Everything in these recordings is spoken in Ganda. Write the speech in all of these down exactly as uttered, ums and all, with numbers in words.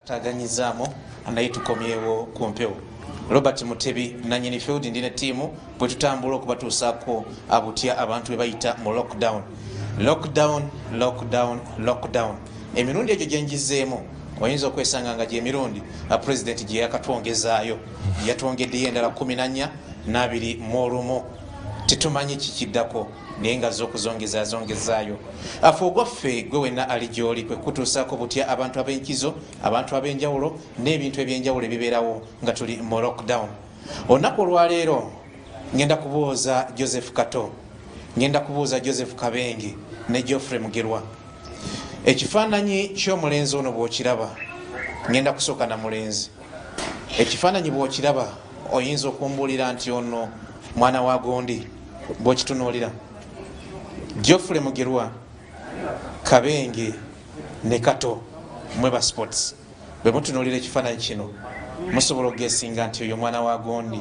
Taganyizaamu naye tukomyewo ku mpewo. Robert Mutebi nanyini field ndine ttiimu bwe tutambula okubatuusaako abutya abantu bwe bayita mu lockdown. Lockdown, lockdown, lockdown. Emirundi egyo gye ngizeemu oyinza okwesanga nga gy'emirundi pulezidenti gye yakatwongezaayo, yatwongeddeyo endala kumi na nnya n'abiri mu olumu. Tetumanyi kikiddako naye nga z'okuzongeza azongezaayo. Afe ogwaffe gwe wenna ali gy'oli kwe kutuusaako butya abantu ab'enkizo, abantu ab'enjawulo n'ebintu ebyenjawulo ebibeerawo nga tuli mu lockdown. Olunaku olwaleero ngenda kubuuza Joseph Kato, ngenda kubuuza Joseph Kabenge ne Geoffrey Mugerwa. Ekifaananyi ky'omulenzi ono bw'okiraba, ngenda kusooka na mulenzi. Ekifaananyi bw'okiraba oyinza okumbuulira nti ono mwana wa gondi bw'okitunuulira. Geoffrey Mugerwa, Kabenge ne Kato mwe ba sports, bwe mutunuulira ekifaananyi kino musobola okugesinga nti oyo mwana wa gondi.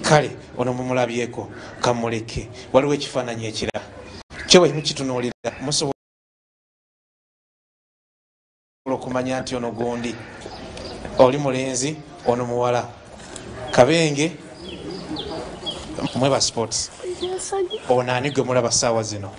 Kale ono mumulabyeko, kamuleke. Waliwo ekifaananyi ekirala kyo bwe mukitunuulira musobola okumanya nti ono gondi, oli mulenzi, ono muwala. Kabenge mwe ba sports, ono ani gwe mulaba ssaawa zino?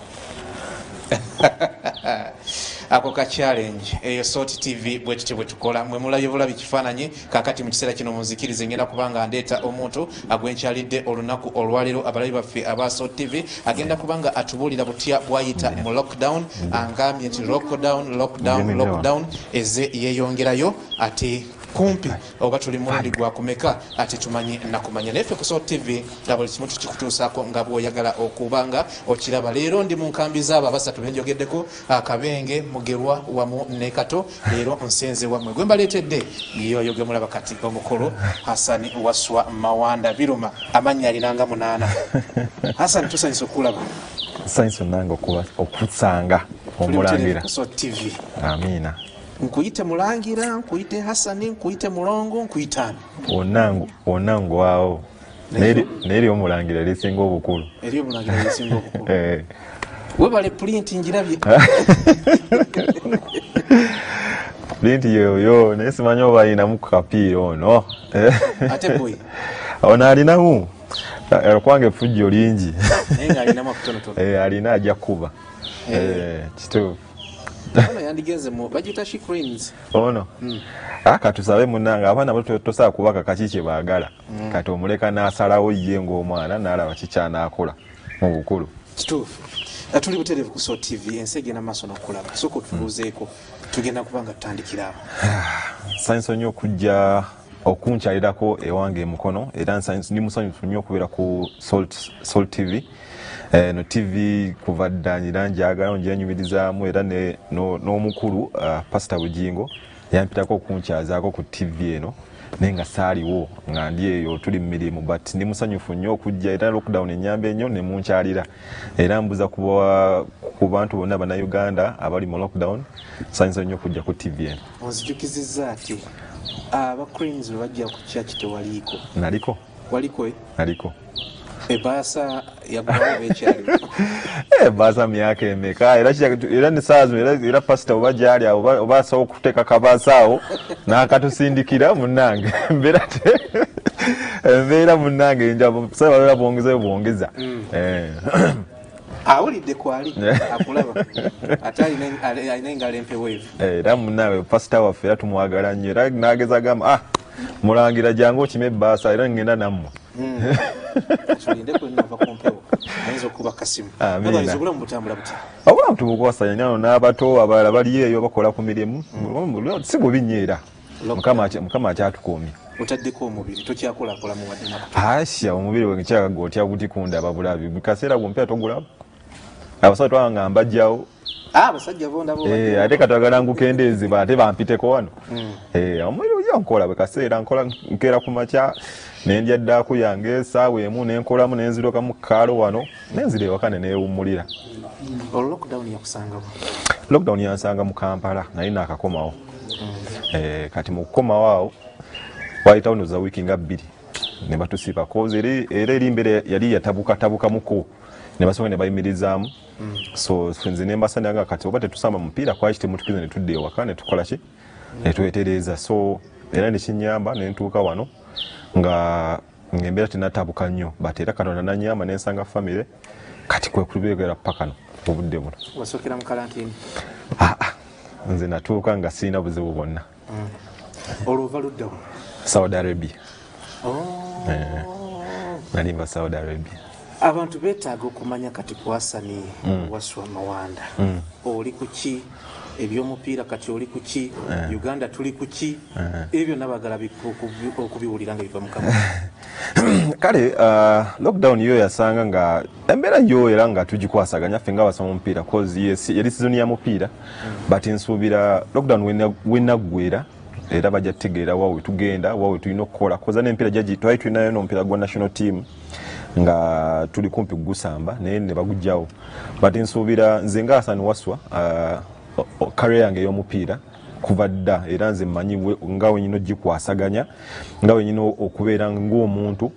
Ako ka challenge eyo Salt T V bwe tutyo bwe tukola. Mwe mulabye bulabi kifaananyi. Kaakati mu kiseera kino munzikirize ngenda kubanga ndeeta omuntu agwenkyalidde olunaku olwaleero. Abalabi baffe aba Salt T V agenda kubanga atubuulira butya bw'ayita mu lockdown. Angambye nti lockdown, lockdown, lockdown eze yeeyongerayo ate kumpi oba tuli mulundi gwa kumeka ate tumanyi nakumanya. Naye ffe ku Salt T V nga buli kimu tukikutuusaako nga bw'oyagala okuba nga okiraba. Leero ndi mu nkambi z'abo abasatu be njogeddeko, Kabenge, Mugerwa wamu ne Kato. Leero nsenze wammwe gwe mbaleetedde yoyo gwe mulaba kati, omukulu Hassan Wasswa Mawanda Biruma, amannya alinanga munaana. Hassan, tusanyuse okulaba. Nsanyuse nange okusanga omulangira ku Salt T V. Amiina. Nkuyite Mulangira, nkuyite Hasani, nkuyite Mulongo, nkuyite ani? Wonna ngwawo. Naye eri omulangira erisinga obukulu. Eri omulangira erisinga obukulu. Webale printi ngirabye. Printi yoyo naye simanyi oba alinamu ku kapiira ono. Ate boy. Ono alinamu. Kwange effujjo lingi. Naye ng'alinamu akutonotono. Alina ajja kuba. Kituufu. Ono yandigenze mu bagiyita she cranes. Ono. Ah, katusabe munnange abaana bato tosobola kubaka kaki kye baagala. Kati omuleka n'asalawo ye ng'omwana n'alaba ki ky'anaakola mu bukulu. Kituufu. Tuli butereevu ku Salt T V, ensi egenda maaso n'okulaba. Sooka otubuuzeeko, tugenda kuba nga tutandikira awo. Nsanyuse nnyo okujja okunkyalirako ewange e Mukono, era ndi musanyufu nnyo okubeera ku Salt, Salt T V. Eno T V kuva dda era njagala ngyenyumirizaamu, era n'omukulu Pastor Bugingo yampitako okunkyazaako ku T V eno, naye nga saaliwo nga ndi eyo tuli mu mirimu, but ndi musanyufu nnyo okujja era lockdown ennyamba ennyo ne munkyalira. Era mbuza ku bantu bonna Bannayuganda abali mu lockdown, nsanyuse nnyo okujja ku T V eno. Onzijukizizza ati aba Cranes bwe bajja ku church tewaliiko. Naliko. Waliko? Naliko. Ebbaasa yagulawo beekyaliwo. Ebbaasa myaka emeka, era era ne ssaawa zino era pasita oba gy'ali awo oba asobola okuteeka kabaasa awo n'akatusindikira munnange. Embeera embeera munnange nja babeera bwongezayo bwongeza. Awulidde kwali akulaba ate alina engalo empeweevu. Era munnange pasita waffe era tumwagala nnyo, era n'ageza agamba ah mulangira jangu okime ebbaasa era ngenda nammwe. Tulinde kwe nava ku mpewo ayinza okuba kasimu. Obulamu butambula butya? Obulamu tubukwasanya nnyo n'abato abalala bali eyo bakola ku mirimu, si bubi nnyo era Mukama akyatukuumye. Otaddeko omubiri tokyakolakolamu wadde nakuto? Asya omubiri gwe nkyagaga otya gutikunda babulabi buli kaseera gw'ompya togulaba. Abasajja twabanga mbajjawo. Abasajja bo ndaba obajjawo. Ate katwagala ngukendeeze ate bampiteko wano. Omubiri ojja nkola buli kaseera nkola nkeera ku makya ne ndya ddaako yange essaawa emu ne nkolamu ne nzirukamu ku kaalo wano ne nzira ewaka ne neewummulira. Olwo lockdown yakusanga wa? Lockdown yansanga mu Kampala naye naakakomawo. Kati mu kukomawo awo wayitawo ndowooza wiiki nga bbiri ne batusiba cause era eri embeera yali yatabukatabukamuko ne basooka ne bayimirizaamu. So nze ne mbasanga nga kati oba tetusamba mupiira kwaki temutukize ne tudda ewaka ne tukola ki? Netwetereza so era nekinyamba nentuuka wano nga embeera tenatabuka nnyo, but era Katonda nanyamba nensanga family kati kwe kubeera paka no obudde buno. Wasookera mu kalantini? Ah, ah, nze natuuka nga sirina buzibu bwonna. Mm. Olwo ova ludda wa? Saudi Arabia. Oh. Eh, nali nva Saudi Arabia. Abantu beetaaga okumanya kati ku Hassan mm. Wasswa Mawanda. Mm. Oli ku ki? Ebyomupiira kati oli ku ki? Eh. Uganda tuli ku ki? Eh. Ebyo byonna baagala okubiwulira nga biva mu kamwa. Kale uh, lockdown yo yasanga nga embeera yo era nga tugikwasaganya ffe nga abasoma omupiira, cause yes, yali season ya mupiira. Mm. But nsuubira lockdown wenaggwera era bajja kutegeera wa we tugenda, wa we tulina okukola, cause n'emipiira gyagi twali tulinayo n'omupiira gwa national team nga tuli kumpi kugusamba naye ne baguggyawo. But nsuubira nze nga Hassan Wasswa, uh, career yange ey'omupiira kuva dda era nze mmanyi nga wenyina ogikwasaganya, nga wenyina okubeera ng'omuntu.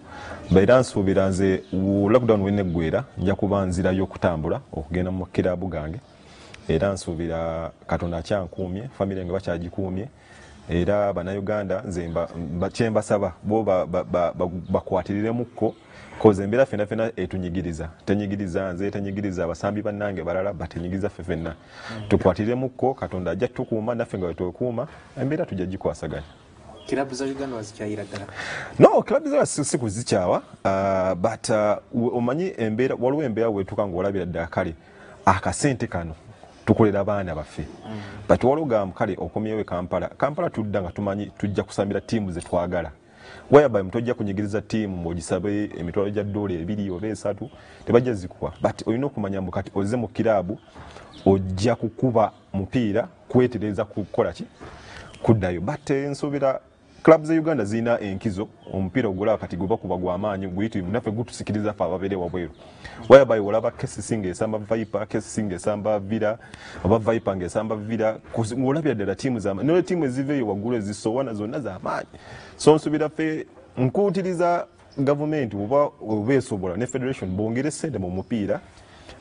Era nsuubira nze lockdown weneggwera nja kuba nzirayo okutambula okugenda mu kiraabu gange, era nsuubira Katonda akyankuumye, famire yange bakyagikuumye, era Bannayuganda nze kyembasaba bo bakwatiriremukko, cause embeera ffenna ffenna etunyigiriza, tenyigiriza nze, tenyigiriza abasambi bannange balala, batenyigiriza ffe ffenna. Tukwatiriremukko, Katonda ajja tukuuma naffe nga wetwekuuma, embeera tujja gikwasaganya. Kilabu za Uganda wazikyayira ddala? No, kilabu za si kuzikyawa, uh, but uh, omanyi embeera, waliwo embeera wetuuka ng'olabira ddala kale akasente kano tukolera abaana baffe. Mm. But waliwo gamba kale okomyewo e Kampala, Kampala tudda nga tumanyi tujja kusambira ttiimu ze twagala, whereby mutojja kunyigiriza ttiimu ng'ogisabe emitwalo gya ddoola ebiri oba esatu, tebajja zikuwa. But olina okumanya mbu kati ozze mu kiraabu ojja kukuba mupiira kwetereza kukola ki kuddayo. But nsuubira clubs za Uganda zirina enkizo, omupiira ogulaba kati gwe bakuba gwa maanyi guyitirivu, naffe gutusikiriza ffe ababeere wabweru, whereby olaba K C C ng'esamba Viper, K C C ng'esamba Villa, oba Viper ng'esamba Villa, ng'olabira ddala ttiimu z'amaanyi, ne ttiimu eziva eyo waggulu ezisowana zonna z'amaanyi. So nsuubira ffe nkuutiriza gavumenti oba oba esobola ne federation bongere ssente mu mupiira,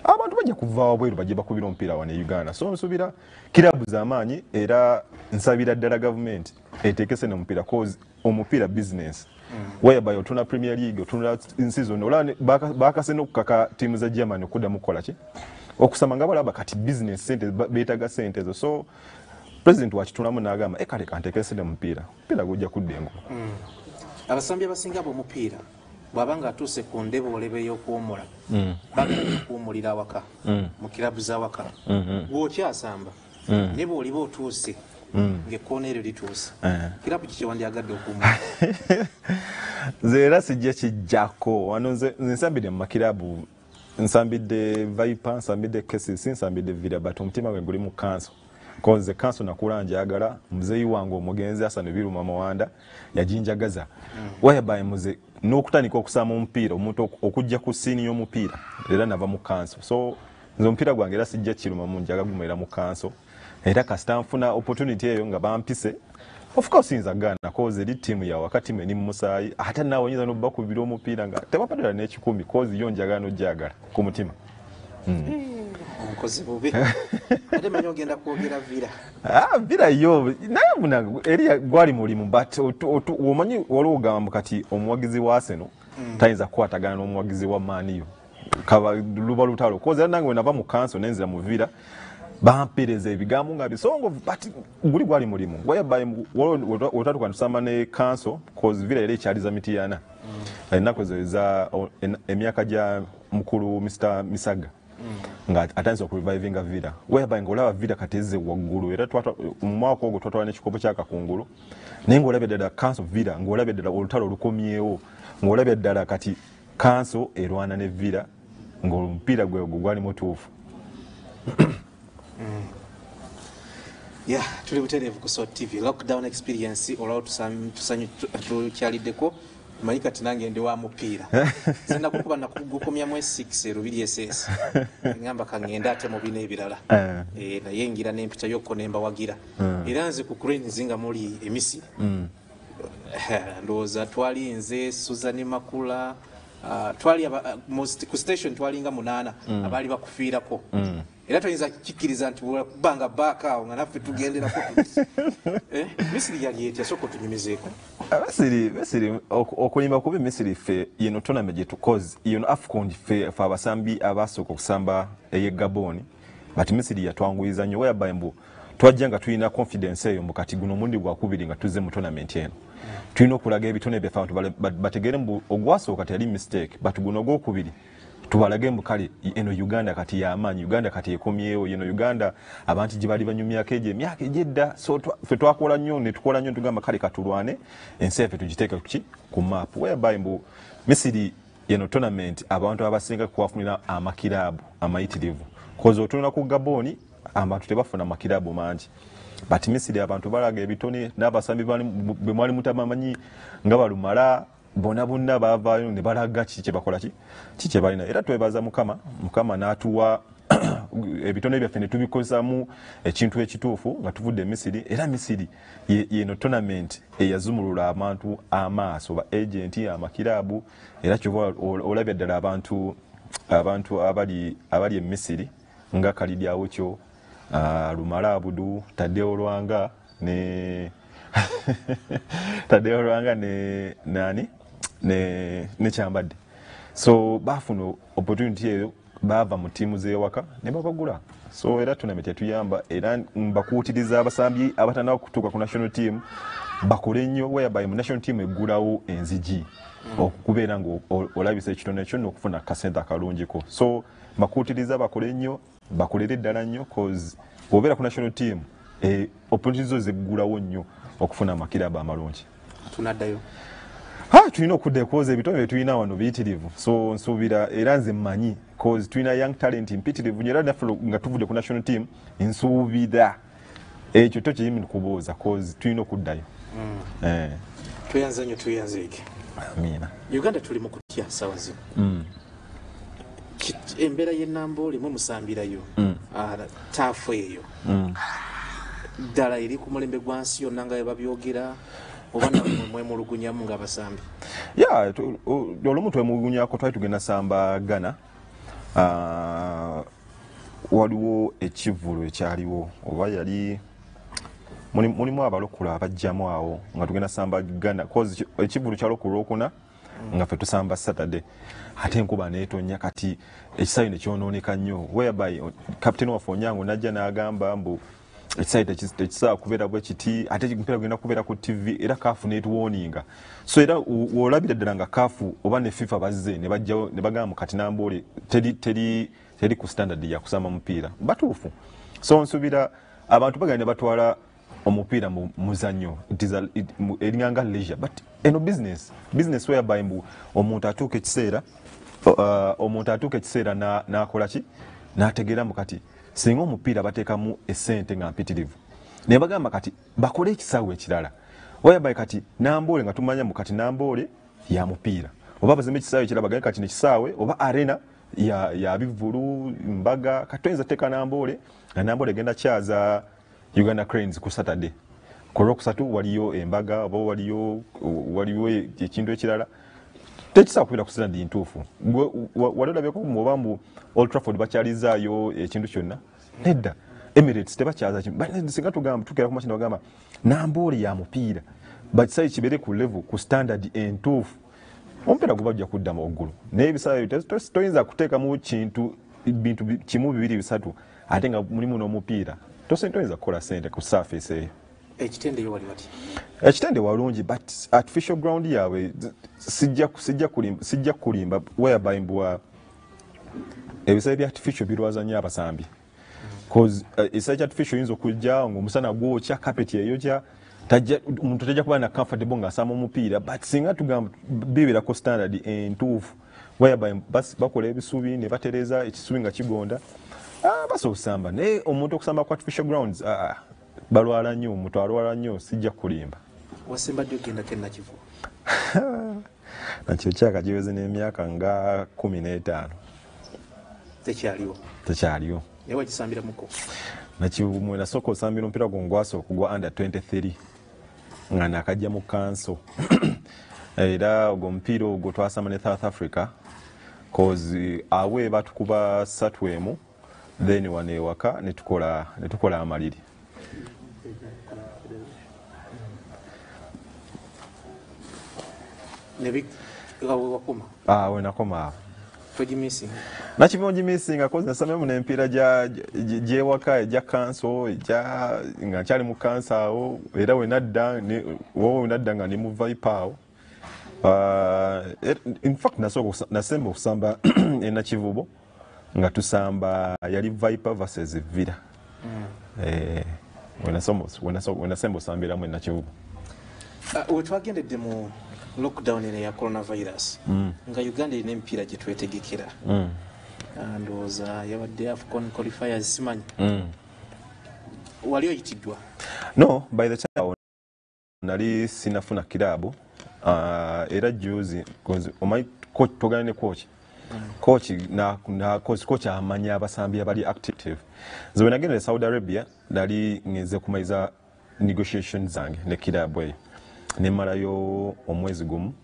abantu bajja kuva wabweru bajje bakubira omupiira wano e Uganda. So nsuubira kiraabu z'amaanyi, era nsabira ddala gavumenti eteeke ssente mu mupiira, cause omupiira business. Mm. Whereby otuna Premier League, otunula nsi zonna, olaba bakase n'okukaka ttiimu za Germany okuddamu kukola ki okusamba nga balaba kati business ssente beetaaga ssente ezo. So president wakituulamu n'agamba e kale kanteeke ssente mu mupiira, omupiira gujja kudda engulu. Mm. Abasambi abasinga ab'omupiira bw'aba ng'atuuse ku ndeboolebe ey'okuwummula, Mm. baagala okuwummulira awaka, Mm. mu kiraabu z'awaka. Mm-hmm. Bw'okyasamba, Mm. ne bw'oliba otuuse, Mm. ng'ekkoona eryo lituuse, Eh. kiraabu ki kye wandyagadde okuwummula? Nze era sijja kijjako wano, nze nsambidde mu makiraabu, nsambidde Viper, nsambidde K C C, nsambidde Villa, but omutima gwe guli mu kanso. Konze kanso nakula njagala, muzeeyi wange omugenzi Hassan Biruma Mawanda yajinjagaza. Mm. Whereby muze n'okutandika okusamba omupiira, omuntu okujja ku siini y'omupiira era nava mu kanso. So nze omupiira gwange era sijja kirumamu, njaga gumera mu kanso, era kasita nfuna opportunity eyo nga bampise, of course nza gaana, cause eri ttiimu ya wakati mwe ni musaayi, ate naawe oyinza n'obakubira omupiira nga tebapadala n'ekikumi, cause yo njagala n'ojjagala ku mutima. Mm. Omukozi bubi. Ate manyi ogenda kwogera Villa. Ah, Villa yo naye muna eri gwali mulimu, but omanyi waliwo ogamba kati omuwagizi wa Arsenal Mm. tayinza kukwatagana n'omuwagizi wa Man U, kaba luba lutalo, cause era nange bwe nava mu kanso nenzira mu Villa bampeereza ebigambo nga bisongovu, but guli gwali mulimu whereby wetwatuuka tusamba ne kanso, cause Villa yali ekyaliza Mityana. Mm. Ennaku ezo eza emyaka gya mukulu Mister Misaga Mm. nga atandise okurevivinga Villa, whereby ng'olaba Villa kati ezze waggulu, era mu mwaka ogwo twatwala n'ekikopo kya Kakungulu, naye ng'olabye ddala kanso Villa, ng'olabye ddala olutalo olukomyewo, ng'olabye ddala kati kanso erwana ne Villa, ng'omupiira gwe ogwo gwali mutuufu. Mm. Yeah, tuli butereevu ku Salt T V. Lockdown experience olwawo tukyaliddeko, manyi kati nange ndi wa mupiira. Nze nakukuba nakugukomyamu S six e Lubiri S S. Ngamba kangende ate mu bino ebirala. Eh. Eh, naye ngira n'empita yokko ne mbawagira. Mm. Era nze ku Cranes nga muli e Misiri. Mm. Ndowooza twali nze Susan Makula, uh, twali aba, uh, most, ku station twalinga munaana Mm. abaali bakufiirako. Mm. Era toyinza kikkiriza nti banga baaka awo nga naffe tugenderako. Eh, Misiri yali etya? Sooka otunyumizeeko. Misiri, Misiri okulimba kubi. Misiri ffe yeno tournament gye tukoze, yeno AFCON, ffe ffe abasambi abasooka okusamba ey'e Gabon, but Misiri yatwanguyiza nnyo, whereby mbu twajja nga tulina confidence eyo mbu kati guno omulundi gwakubiri nga tuzze mu tournament eno, tulina okulaga ebitone byaffe, abantu bategeere mbu ogwasooka teyali mistake, but guno ogwokubiri tubalage mbu kale eno Uganda kati yamaanyi, Uganda kati ekomyewo, eno Uganda abantu gye bali banyumyako egyo emyaka egyedda. So ffe twakola nnyo ne tukola nnyo, tugamba kale katulwane ensi yaffe tugiteeke kuki ku map, whereby mbu Misiri eno tournament abantu abasinga kuwafunira amakiraabu amayitirivu, 'cause otunula ku Gaboni abantu tebafuna makiraabu mangi, but Misiri abantu balaga ebitone n'abasambi bwe mwali mutabamanyi nga balumala bonna bonna bavaayo ne balaga kiki kyebakola, ki ki kyebalina. Era twebaza Mukama, Mukama n'atuwa ebitone byaffe ne tubikozamu ekintu ekituufu nga tuvudde e Misiri. Era Misiri yeno tournament eyazumulula abantu amaaso, ba agent, amakiraabu. Era kyova olabya ddala abantu abantu abali abali e Misiri nga Khalid Aucho, uh, Lumala Abudu, Tadeo Lwanga ne Tadeo Lwanga ne nani ne ne Kyambadde. So bafuna opportunity eyo, bava mu ttiimu z'ewaka ne babagula. So era tournament yatuyamba, era mbakuutiriza abasambi abatannaba kutuuka ku national team bakole nnyo, whereby mu national team eggulawo enzigi mm. okubeera nga olabisa ekitone kyo n'okufuna akasente akalungiko. So mbakuutiriza bakole nnyo, bakolere ddala nnyo, 'cause bw'obeera ku national team, eh, opportunity zo zeggulawo nnyo okufuna amakiraba amalungi. Tunaddayo? Ha, tulina okudda, 'cause ebitone bye tulina wano biyitirivu. So nsuubira, era nze mmanyi, 'cause tulina young talent mpitirivu nnyo. Era naffe nga tuvudde ku national team, nsuubira ekyo to kiyimi kubuuza, 'cause tulina okuddayo mm. eh. Tweyanza nnyo, tweyanzeeke. Amiina. Uganda tuli mu kutya sawa zino mm. Embeera y'enamboole mwe musambirayo mm. turf eyo mm. ddala eri ku mulembe gwa nsi yonna nga babyogera, oba nammwe mwemulugunyamu ng'abasambi? Ya, olumu twemulugunyako. Twali tugenda samba Ghana, uh, waliwo ekivvulu ekyaliwo, oba yali mulimu abalokole abajjamu awo nga tugenda samba Ghana, 'cause ekivvulu kyaliwo ku Lwokuna nga ffe tusamba Saturday, ate enkuba neetonya, kati ekisaawe nekyonooneka nnyo, whereby captain waffe Onyango najja n'agamba mbu ekisaawe tekisobola kubeera bwe kiti, ate omupiira gugenda kubeera ku T V. Era CAF netuwarninga. So era wolabira ddala nga CAF oba ne FIFA bazze ne bajjawo ne bagamba kati Namboole teri teri teri ku standard ya kusamba mupiira batuufu. So nsuubira abantu bagenda ne batwala omupiira mu muzannyo, eringanga leisure, but eno business business whereby mbu omuntu atuuka ekiseera uh, omuntu atuuka ekiseera n'akola ki, n'ategeera mu kati singa omupiira bateekamu esente nga mpitirivu, naye bagamba kati bakole ekisaawe ekirala, whereby kati Namboole nga tumanya mu kati Namboole ya mupiira, oba bazimbe ekisaawe ekirala, bagambe kati nekisaawe oba arena ya, ya bivulu mbaga. Kati toyinza teeka Namboole nga Namboole egenda kyaza Uganda Cranes ku Saturday, ku Lwokusatu waliyo embaga oba waliyo waliyo ekintu ekirala, tekisobola kubeera ku standard ntuufu. Wali olabyeko oba mbu Old Trafford bakyalizaayo ekintu kyonna? Nedda. Emirates tebakyaza. Singa tugamba tukera ku makina, bagamba Namboole ya mupiira, bakisawe kibeere ku level, ku standard entuufu, omupiira guba gujja kudda waggulu. Naye ebisaawe toyinza kuteekamu kintu bintu kimu, bibiri, bisatu, ate nga mulimu n'omupiira, toyinza kukola sente ku surface eyo. Ekitende yo wali wati? Ekitende walungi, but artificial ground yaabwe sijja sijja kulimba, whereby mbwa ebisaawe bya artificial birwaza nnyo abasambi, 'cause uh, ekisaawe kya artificial oyinza okujja ngaomusana gwokya, carpet eyokya, omuntu tajja kuba na comfortable ng'asamba omupiira. But singa tugamba bibeerako standard entuufu, whereby bakola ebisubi ne batereeza ekisubi nga kigonda, ah, basobola okusamba. Naye omuntu okusamba ku artificial grounds, ah, balwala nnyo, omuntu alwala nnyo, sijja kulimba. Wasembadde ogendako enakivu? Nakyo kyaka kiweze n'emyaka nga kumi n'etaano. Tekyaliwo? Tekyaliwo. Naye wakisambiramuko? Nakimwe nasooka osambira omupiira gwo ngwasooka ogwa under twenty-three nga nakajja mu kanso, era ogwo omupiira ogwo twasamba ne South Africa, 'cause awe batukuba satu emu. Then wano ewaka netukola netukola amaliri. Ah, wenakoma nakibongimissinga kozi nasamemu n'empiira gyewaka egya kanso egya nga nkyali mu kanso awo, era wenadda wowe wenadda nga ndi mu Viper awo. In fact nasooka nasemba okusamba e Nakivubo nga tusamba yali Viper versus Villa. Eh, wenasemba osambiramu e Nakivubo. Wetwagendedde mu lockdown eno ya coronavirus, mm. nga Uganda erina emipiira gye twetegekera, mm. ndowooza yabadde AFCON qualifiers simanyi, mm. wali oyitiddwa? No, by the time nali sinafuna kiraabu. uh, era juzi omanyi togana ne coach, coach na, na coach, coach amanya abasambi abali active. Nze wenagenda e Saudi Arabia nali ngenze kumaliza negotiations zange ne kiraabu eyo, nemalayo omwezi gumu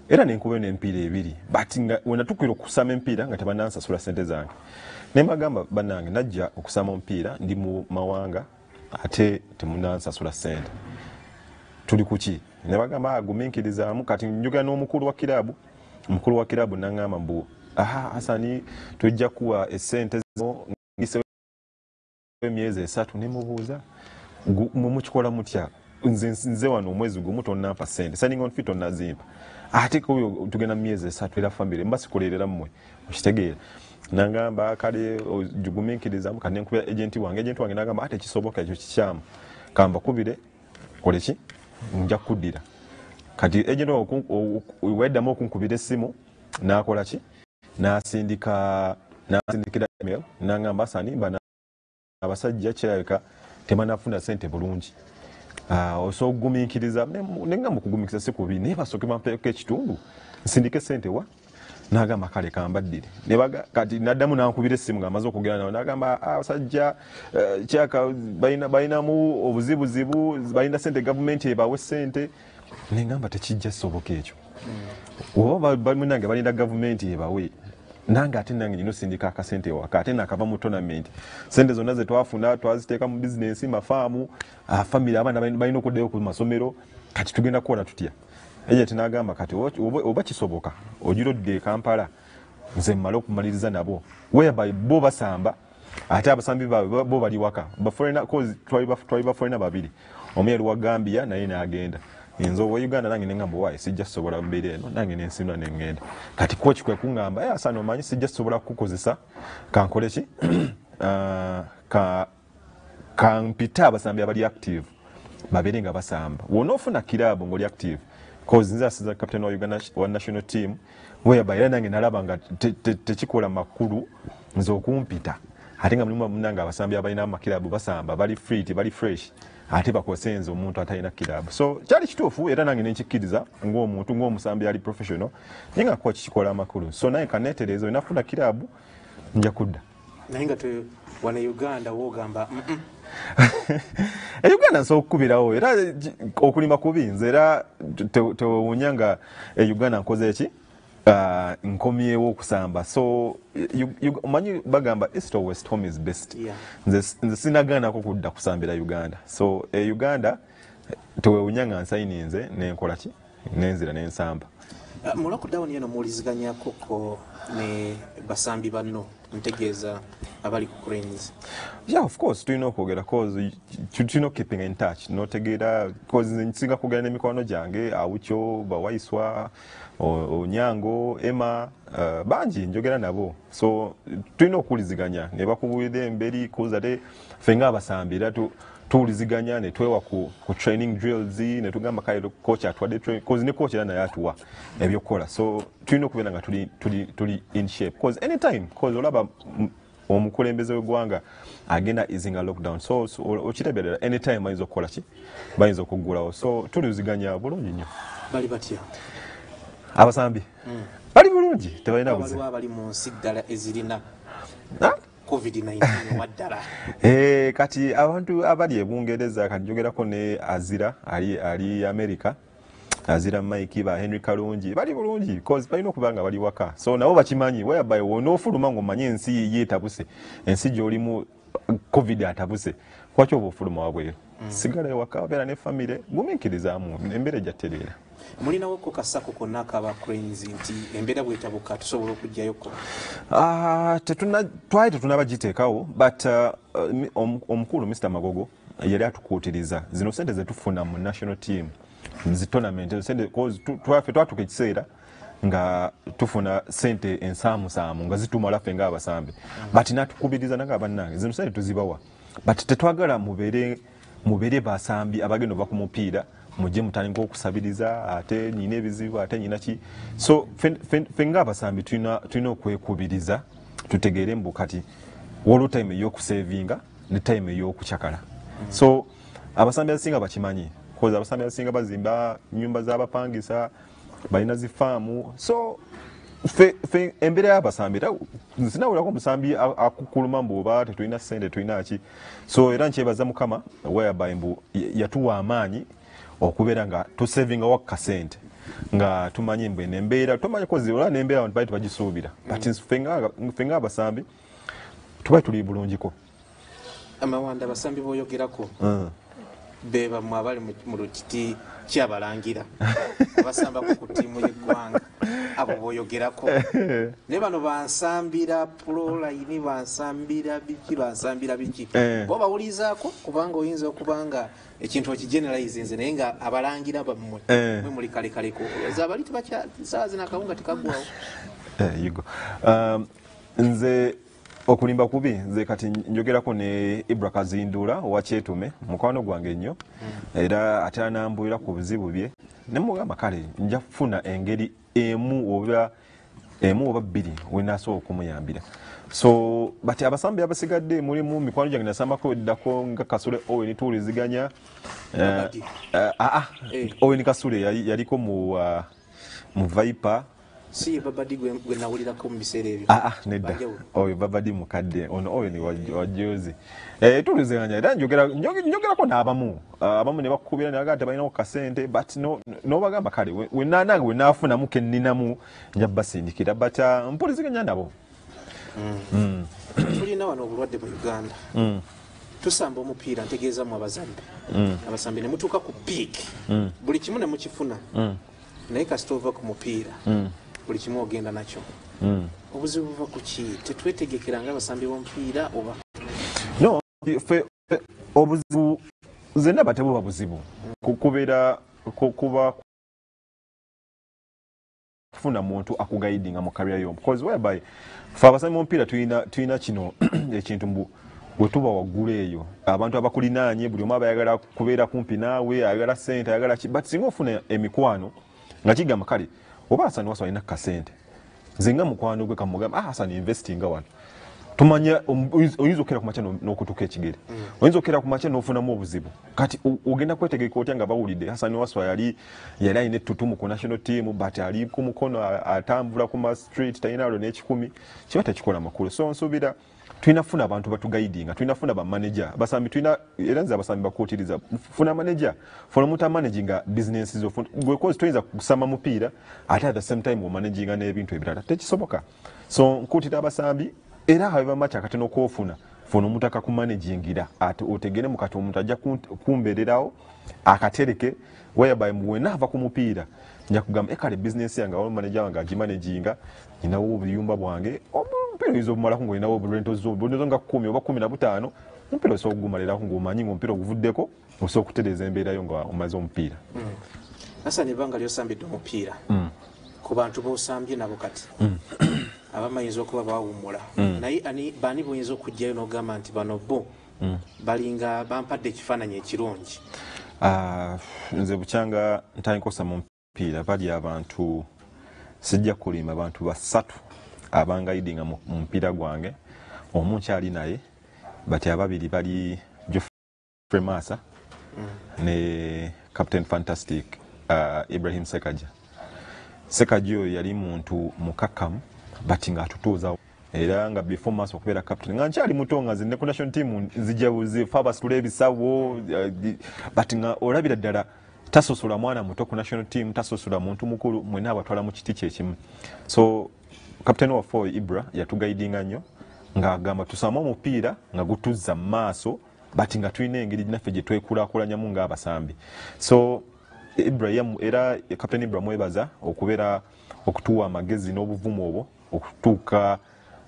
era nenkubayo n'empiira ebiri, but nga wenatukira okusama empiira nga tebanansasula sente zange, nembagamba bannange najja okusama omupiira ndi mu mawanga ate temunansasula sente, tuli kuki? Nebagamba agumiikirizaamu. Kati njogera n'omukulu wa kiraabu, omukulu wa kiraabu nangamba mbu aha Hasani tujja kuwa esente zo ngisewo emyezi esatu. Nemubuuza mumukikola mutya? Nze nze wano omwezi gumu tonnampa sente, signing on fee tonnazimpa, ate ko tugenda mu myezi esatu era family mba sikolerera mmwe, okitegeera? Nangamba kale jugumiikirizamu. Kati nenkubira agent wange, agent wange nagamba ate kisoboka ekyo kikyamu, kambakubire kole ki nja kuddira. Kati agent weddamu okunkubira essimu nakola ki, nasindika nasindikira email nangamba Hasani bana abasajja kirabika tebanafuna sente bulungi, Uh, osobola okugumiikiriza. Nengamba okugumiikiriza si kubi, naye basooke bampeeko ekitundu nsindike sente wa. Nagamba kale kambaddire. Kati naddamu nankubira essimu ng'amaze okwogera nawe, nagamba abasajja uh, kyaka balinamu obuzibuzibu, balina sente gavumenti ebawe sente. Nengamba tekijja soboka ekyo, oba munange balina gavumenti ebawe, nange ate nange nina osindika akasente ewaka, ate nakava mu tournament sente zonna ze twafuna twaziteeka mu bizinensi, mafaamu, family, abaana balina okuddayo ku masomero, kati tugenda kukola tutya? Agent n'agamba kati oba kisoboka ogira odde e Kampala nze mmale okumaliriza nabo, whereby bo basamba ate abasambi baabwe bo bali waka, twali baforeigner babiri, omu yali wa Gambia naye n'agenda, nze owa Uganda nange nengamba waayi sijja kusobola mbeera eno, nange nensimula nengenda. Kati coach kwe kuŋŋamba eh Hasani omanyi sijja kusobola kukukozesa, kankole ki ka kampite abasambi abali active babeere nga basamba, w'onoofuna kiraabu ng'oli active, cause nze asiza captain wa Uganda wa national team, whereby era nange nalaba nga tekikola makulu nze okumpita, ate nga mulimu munange abasambi abalina amakiraabu basamba bali free, bali fresh, ate bakosenze omuntu atalina kiraabu. So kyali kituufu era nange nenkikkiriza ng'omuntu ng'omusambi ali professional, naye nga coach kikola amakulu. So naye kaneetereeza wenafuna kiraabu nja kudda. Naye nga wano Uganda wogamba e Uganda nsobola okukubirawo era okulima kubi nze era tewewuunya nga e Uganda nkoze eki, uh, nkomyewo okusamba. So omanyi bagamba east or west, home is best. Nze nze sinagaanako kudda kusambira Uganda. So e Uganda tewewuunya nga nsayininze nenkola ki nenzira nensamba. Uh, mu lockdown eno muwuliziganyako ko ne basambi banno, ntegeeza abali ku Cranes? Yeah, of course tulina okwogera, cause tulina keeping in touch, notegeera, cause nsinga kwogera n'emikwano gyange Awucho, Bawaiswa, Onyango, Emma, uh, bangi njogera nabo. So tulina okuwuliziganya ne bakubuulira emberi, cause ate ffe ng'abasambi era tuwuliziganya ne twewa ku, ku training drills ne tugamba kale coach atuwadde training, cause ne coach era naye atuwa ebyokukola. So tulina okubeera nga tuli, tuli, tuli in shape, cause anytime, cause olaba omukulembeze w'eggwanga agenda easinga lockdown, so, so okirabira anytime bayinza okukola ki, bayinza okuggulawo. So tuliwuliziganya bulungi nnyo. Bali batya abasambi? Mm. Bali bulungi, tebalina buzibu. Waliwo abali mu nsi ddala ezirina covid nineteen waddala. Eh, kati abantu abali e Bungereza, kati njogerako ne Azira ali, ali America, Azira Mike, ba Henry Kalungi bali bulungi because balina okuba nga bali waka. So nabo bakimanyi whereby wonoofuluma ng'omanye ensi yeetabuse, ensi gy'olimu COVID atabuse, kwaki oba ofuluma wabweru? mm. Sigala ewaka, obeera ne famire, gumiikirizaamu, embeera ejja ttereera. Mulinawo ko kasako konna akaba Cranes nti embeera bwetabuka tusobola okuggyayoko? Ah, twali tetunaba giteekawo, but uh, omukulu Mister Magogo yali atukuutiriza zino sente zetufuna mu national team zi tournament sente, twaffe twatuka ekiseera nga tufuna sente ensaamusaamu nga zitumala ffe ngaabasambi, but natukubiriza nanga bannange zino sente tuzibawa, but tetwagala mubeere mubeere basambi abagenda ova ku mupiira mujje mutandika okusabiriza, ate nyina ebizibu, ate nyina ki. So ffe ngaabasambi tulina okwekubiriza tutegeere mbu kati waliwo time ey'okusevinga ne time ey'okucakala. So abasambi abasinga bakimanyi, cause abasambi abasinga bazimba nyumba z'abapangisa, balina zifaamu. So fe, fe embeera y'abasambi era sinawulirako omusambi akukuluma mbu oba tetulina sente, tulina ki. So era nkyebaza Mukama whereby mbu yatuwa amaanyi okubeera nga tusevingawo kasente nga tumanyi mbu eno embeera tomanyi kozi ola nembeera abantu bali tebagisuubira, but ffe ng'abasambi tuba tuli bulungiko. Amawanda, abasambi boyogerako mm. be bamwe abali mu lukiti kyabalangira abasambako ku ttiimu y'eggwanga, abo boyogerako? Naye bano bansambira proline, bansambira biki, bansambira biki, Eh. bo bawulirizaako? Kubanga oyinza okuba nga ekintu okigeneralizinze, naye nga abalangira bammwe Eh. mwe muli kalekaleko abali tebakya saawa zino akawunga tekaggwawo. Eh, you go. Um, nze okulimba kubi, nze kati njogerako ne Ibra Kazindula owa Kyetume, mukwano gwange nnyo, era ate anambuulira ku buzibu bye nemugamba kale nja kufuna engeri emu oba emu oba bbiri wenasobola okumuyambira. So but abasambi abasigadde mulimu mikwano gyange nasambako eddako nga Kasule Owen, tuwuliziganya. Eh, Babadi. eh, ah, ah, Eh. Owen Kasule yali- yaliko mu uh, mu Viper. Si ye Babadi gwe gwe nawulirako mu biseera ebyo? Ah, ah, nedda. Banjawulo. Oyo Babadi mukadde, ono oyo ni wajozi. Eh, tuliziganya era njogera njoge- njogerako n'abamu. Ah, abamu ne bakukubira ne bagamba tebalinawo kasente, but no n'obagamba kale we- we nanange we naafunamu ke nninamu nja basindikira, but uh, mpuliziganya nabo. Tulina wano obulwadde mu Uganda. Tusamba omupiira, ntegeeza mu abazambi, abasambi ne mutuuka ku peak, buli kimu ne mukifuna, naye kasita ova ku mupiira buli kimu ogenda nakyo. Obuzibu buva ku ki? Tetwetegekera nga abasambi b'omupiira oba? No, fe fe- obuzibu nze ndaba tebuba buzibu. Ku- kubeera ku- kuba kufuna muntu akuguidinga mu career yo, because whereby fe abasambi b'omupiira tulina tulina kino ekintu mbu bwe tuba waggulu eyo abantu abakulinaanye buli omu aba ayagala kubeera kumpi naawe, ayagala sente, ayagala ki. But singa ofuna emikwano nga kigamba kale oba Hasani Waswa alina kasente, nze nga mukwano gwe kamugamba, "Ah, Hasani, investinga wano." Tumanya om- oyinza okukera ku makya no- n'okutuka ekigere, oyinza okukera ku makya n'ofunamu obuzibu. Kati o- ogenda kwetegeka otya nga bawulidde Hasani Waswa yali yali alina ettutumu ku national team, but ali ku mukono a- atambula ku ma street, talina alo n'ekikumi, kiba tekikola makulu. So nsuubira tulina kufuna abantu batuguidinga, tulina kufuna bamanager basambi, tulina era nze abasambi bakuutiriza, funa manager, funa omuntu amanaginga business zo. Gwe cause toyinza kusamba mupiira ate at the same time omanaginga n'ebintu ebirala, tekisoboka. So nkuutira abasambi era however much akatono okofuna, funa omuntu akakumanagingira ate otegere mukati omuntu ajja kumbeererawo akatereke, whereby wena ava ku mupiira nja kugamba ekale bizinesi yange awo manager wange agimanaginga, ninawo obuyumba bwange. Omupiira oyinza obumalako ngaolinawo obulento zo nga kumi oba kumi na butaano, omupiira osobola okugumalirako ngaomanyi nga omupiira oguvuddeko osobola okutereeza embeerayo nga omaze omupiira. mm. Hasani, ebbanga lyosambidde omupiira, mm. ku bantu bosambye nabo kati, mm. abamu ayinza okuba bawummula, naye baani boyinza okugjayo n'ogamba nti bano bo balinga bampadde ekifaananyi ekirungi? Ah, nze bukyanga ntandika osama omupiira bali abantu, sijja kulimba, abantu basatu abanguidinga mu mupiira gwange. Omu nkyali naye, but ababiri bali Geoffrey Massa mm. ne Captain Fantastic uh, Ibrahim Sekaja. Sekaja oyo yali muntu mukakamu, but nga atutuuza, era nga before Massa okubeera captain nga nkyali muto, nga nze ne ku national team nzija buzifa abasitula ebisawo, uh, but nga olabira ddala Tasosola mwana muto ku national team, tasosola muntu mukulu, mwena abatwala mu kiti kyekimu. So captain waffe Ibra yatuguidinga nnyo ng'agamba tusame omupiira nga gutuzza mu maaso, but nga tulina engeri naffe gye twekulaakulanyamu ng'abasambi. So Ibra era captain Ibra mwebaza okubeera okutuwa amagezi n'obuvumu obwo okutuuka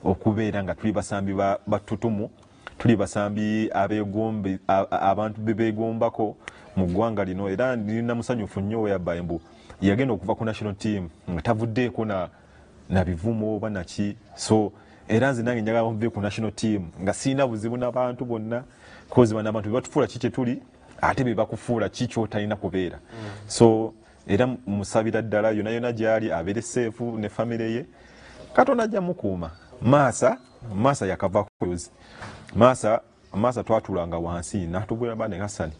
okubeera nga tuli basambi batutumu, tuli basambi abegombe abantu bebegombako mu ggwanga lino. Era ndina musanyufu nnyo whereby mbu yagenda okuva ku national team nga tavuddeeko na na bivumo oba naki. So era nze nange njagala nve ku national team nga sirina buzibu n'abantu bonna, kozi bano abantu bebatufuula ki kye tuli ate be bakufuula ki ky'otalina kubeera. So era musabira ddala yonna yonna gy'ali abeere safe ne famire ye, Katonda ajja mukuuma. Maasa Maasa yakava kuzi Maasa Maasa twatulanga wansi natubwera bane Hassan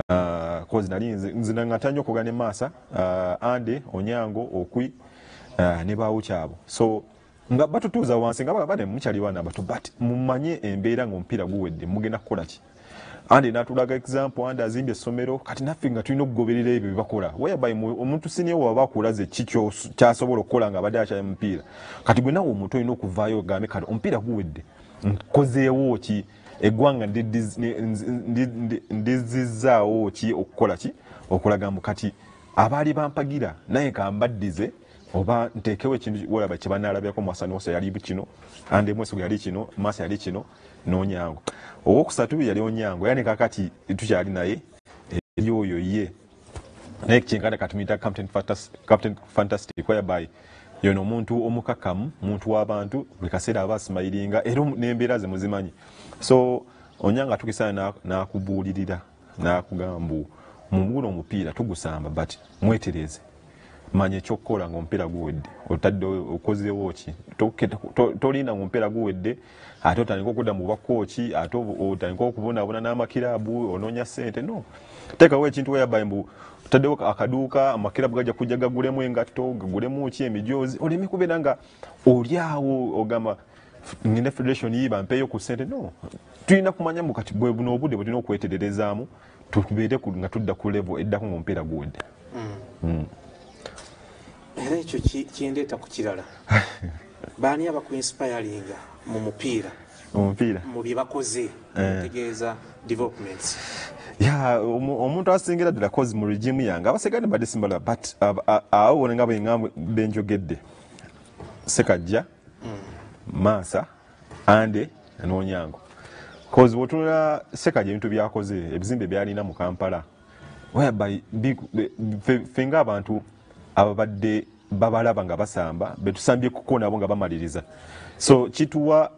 uh, kozi nali nze nga nnyo okugana ne Maasa uh, Ande Onyango Okwi uh, ne bawukyabo. So nga batutuuza wansi nga bane mukyali bana bato, but mumanye embeera ng'omupiira guwedde mugenda kukola ki. Ande natulaga example, Ande azimbye essomero, kati naffe nga tulina okugoberera ebyo bye bakola. Whereby omuntu senior waba akulaze ki kyasobola okukola nga abadde akyali mupiira, kati gwe nawe omuntu olina okuvaayo ogambe kati omupiira guwedde nkozeewo ki, eggwanga ndizizzaawo ki okukola ki, okulaga mbu kati abaali bampagira naye kambaddize oba nteekewo ekintu walaba kye banaalabirako. Mwasani Wasa yali kino, Ande Mwesiga yali kino, Masa yali kino n'Onyango. Owokusatu yali Onyango, yani kakati tukyali naye eri oyo ye naye kyenkana katumuyita Captain Fantastic, Captain Fantastic, whereby yono omuntu omukakamu, muntu w'abantu, buli kaseera aba asimayiringa era n'embeera ze muzimanyi. So Onyango atukisana n'akubuulirira n'akugamba mbu mu guno omupiira tugusamba, but mwetereze, manya ekyokukola ng'omupiira guwedde, otadde okozeewo ki, tolinda ng'omupiira guwedde ate otandika okudda mu bwakooki, ate otandika okubonaabona n'amakiraabu onoonya ssente. No, teekawo ekintu whereby mbu otaddewo akaduuka, amakiraabu gajja kujja gagulemu engatto, gagulemu ki emijoozi, oleme kubeera nga oli awo ogamba ngende federation yi bampeeyo ku ssente. No, tulina kumanya mbu kati bwe buno obudde bwe tulina okwetererezaamu tubeere nga tudda ku level eddako ng'omupiira guwedde. Era ekyo kindeeta ku kirala, baani abakuinspiringa mu mupiira omupiira mu bye bakoze, ntegeeza developments? Ya, omuntu asingira ddala kozi mu regime yange abasigadde mbadde simbala, but awo bona nga bwe benjogedde, Sekajja, Maasa, Ande n'Onyango. Kozi bw'otunula Sekajja ebintu byakoze, ebizimbe byalina mu Kampala, whereby ffe ng'abantu ababadde babalaba nga basamba betusambye kuko nabo nga bamaliriza, so kituwa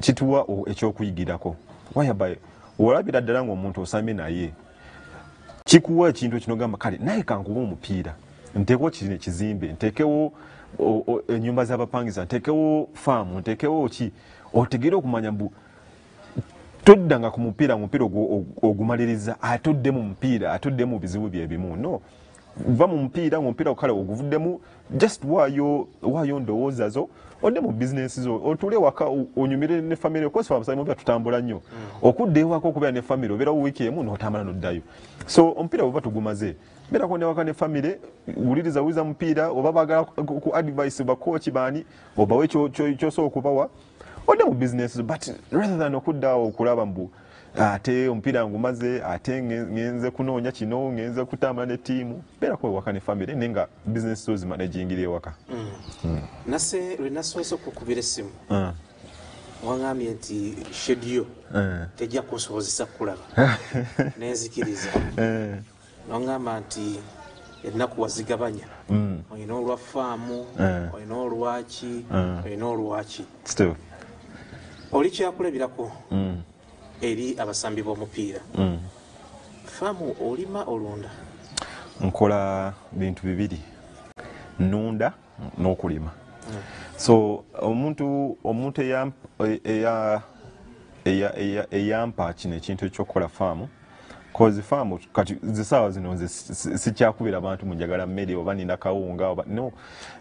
kituwa ekyokuyigirako. Whereby olabira ddala ng'omuntu osambye naye kikuwa ekintu kino gamba kale naye kankuba omupiira nteekewo kino ekizimbe, nteekewo ennyumba z'abapangisa, nteekewo faamu, nteekewo ki, otegere okumanya mbu toddanga ku mupiira omupiira ogumaliriza ate odde mu mupiira ate odde mu bizibu bye bimu. No, va mu mupiira ng'omupiira kale oguvuddemu, just waayo waayo ndowooza zo odde mu bizinesi zo, otuule waka onyumire ne famire. Okosi abasambi omupiira tutambula nnyo, okudda ewaka okubeera ne famire obeerawo wiiki emu n'otambula n'oddayo. So omupiira bw'oba tugumaze beerako ne waka ne famire, wuliriza wuliriza mupiira, oba baagala ku advice bakooki baani obawe ky'osobola okubawa, odde mu bizinesi zo, but rather than okudda awo okulaba mbu ate omupiira ngumaze ate ngenze kunoonya kino ngenze kutambula ne ttiimu, beerako ewaka ne famire naye nga bizinesi zo zimanagingira ewaka. Nase lwe nasoose okukubira essimu waŋŋambye nti schedule tejja kunsobozesa kukulaba, nenzikiriza noŋŋamba nti ennaku wazigabanya, olina olwa faamu, olina olwaki, olina olwaki. Oli kyakulabirako eri abasambi b'omupiira. Faamu olima, olunda? Nkola bintu bibiri, nunda n'okulima. So omuntu omuntu eyampa kino ekintu ekyokukola faamu, kozi faamu kati zisaawa zino nze sikyakubira abantu munjagala mmere oba nina kawunga oba no.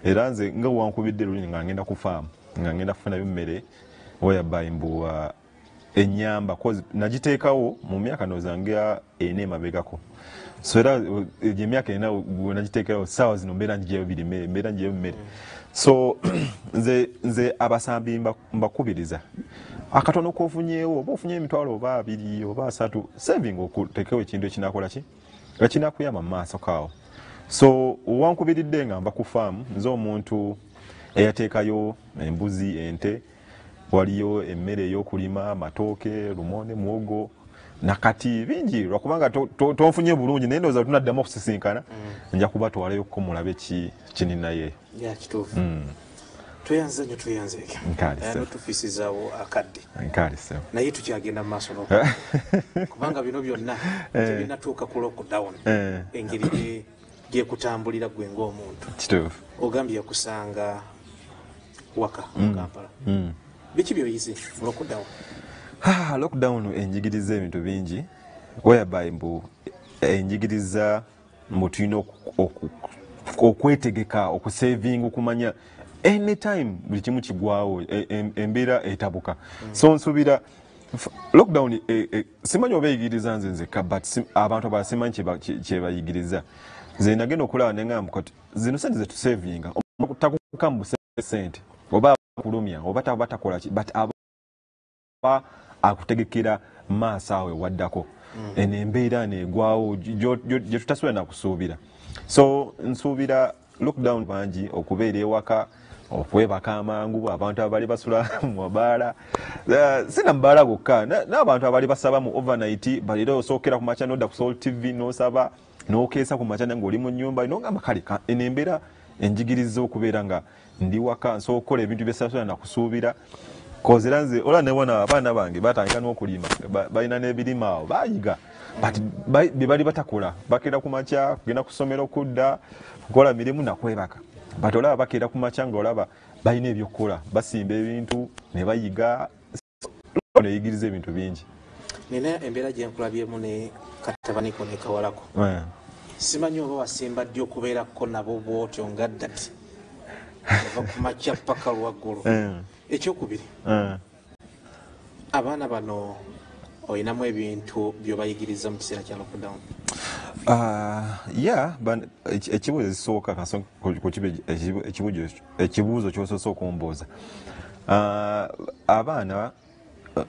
Era nze nga wankubidde luli nga ngenda ku faamu nga ngenda kufunayo mmere whereby mbu uh, Enyamba cause nagiteekawo mu myaka ndowooza nga ena emabegako. So era egyo emyaka ena we nagiteekerawo, saawa zino mbeera ngiggyayo birime, mbeera ngiggyayo mmere. So nze nze abasambi mbakubiriza, akatono kofunyeewo, oba ofunye emitwalo oba abiri oba asatu, saving, okutekewo ekintu ekinakola ki, ekinakuyamba mu maaso kaawo. So wankubiridde nga nva ku faamu, nze omuntu eyateekayo embuzi, ente, waliyo emmere ey'okulima, amatooke, lumonde, muwogo nakati bingi. Lwakubanga tonfunye bulungi, naye ndowooza tunaddamu okusisinkana, nja kubatwalayo ko mulabe kininaye. Kituufu, tweyanze nnyo, tweyanzeeke notufiisizaawo akadde, naye tukyagenda mu maaso kubanga bino byonna tebinatuuka ku lockdown, engeri gyekutambulira gwe ng'omuntu. Kituufu. Ogambye yakusanga waka mu Kampala. Biki byoyize mu lockdown? Lockdown enjigiriza ebintu bingi, whereby mbu enjigiriza mbu tulina okwetegeka, okusavinga, okumanya anytime buli kimu kigwawo, embeera etabuka. So nsuubira lockdown, simanyi oba eyigiriza nze nzekka, but abantu abalala simanyi kyebayigiriza. Nze nagenda okulaba neŋŋamba kati zino sente zetusavinga, takuka mu sente oba akulumya oba takola ki, but aba akutegekera maaso awo ewaddako, eno embeera negwawo gye tutasobola nakusuubira. So nsuubira lockdown bangi okubeera ewaka, okwebaka amangu, abantu abali basula mu mabaala, sina mubaala gokka, n'abantu abali basaba mu overnight balira, osookera ku makya nodda ku Salt T V n'osaba n'okeesa ku makya ng'oli mu nnyumba, nogamba kale eno embeera enjigiriza okubeera nga ndi waka, nsobola okukola ebintu byesasobola nakusuubira. Kozera nze ola newana abaana bange batandika n'okulima, balina n'ebirima awo bayiga, but bye bali batakola, bakeera ku makya kugenda ku ssomero, kudda kukola mirimu nakwebaka, but olaba bakeera ku makya ng'olaba balina ebyokukola, basimba ebintu ne bayiga, neyigiriza ebintu bingi. Nina embeera gyenkulabyemu ne katabaniko ne kawalako, simanyi oba wasimba ddi okubeerako nabo bwotyo nga ddati ova ku makya paka lwaggulu. Ekyokubiri, abaana bano olinamu ebintu byobayigiriza mu kiseera kya lockdown? Ya, ekibuuzo ekisooka, ekibuuzo kyosoose okumbuuza, abaana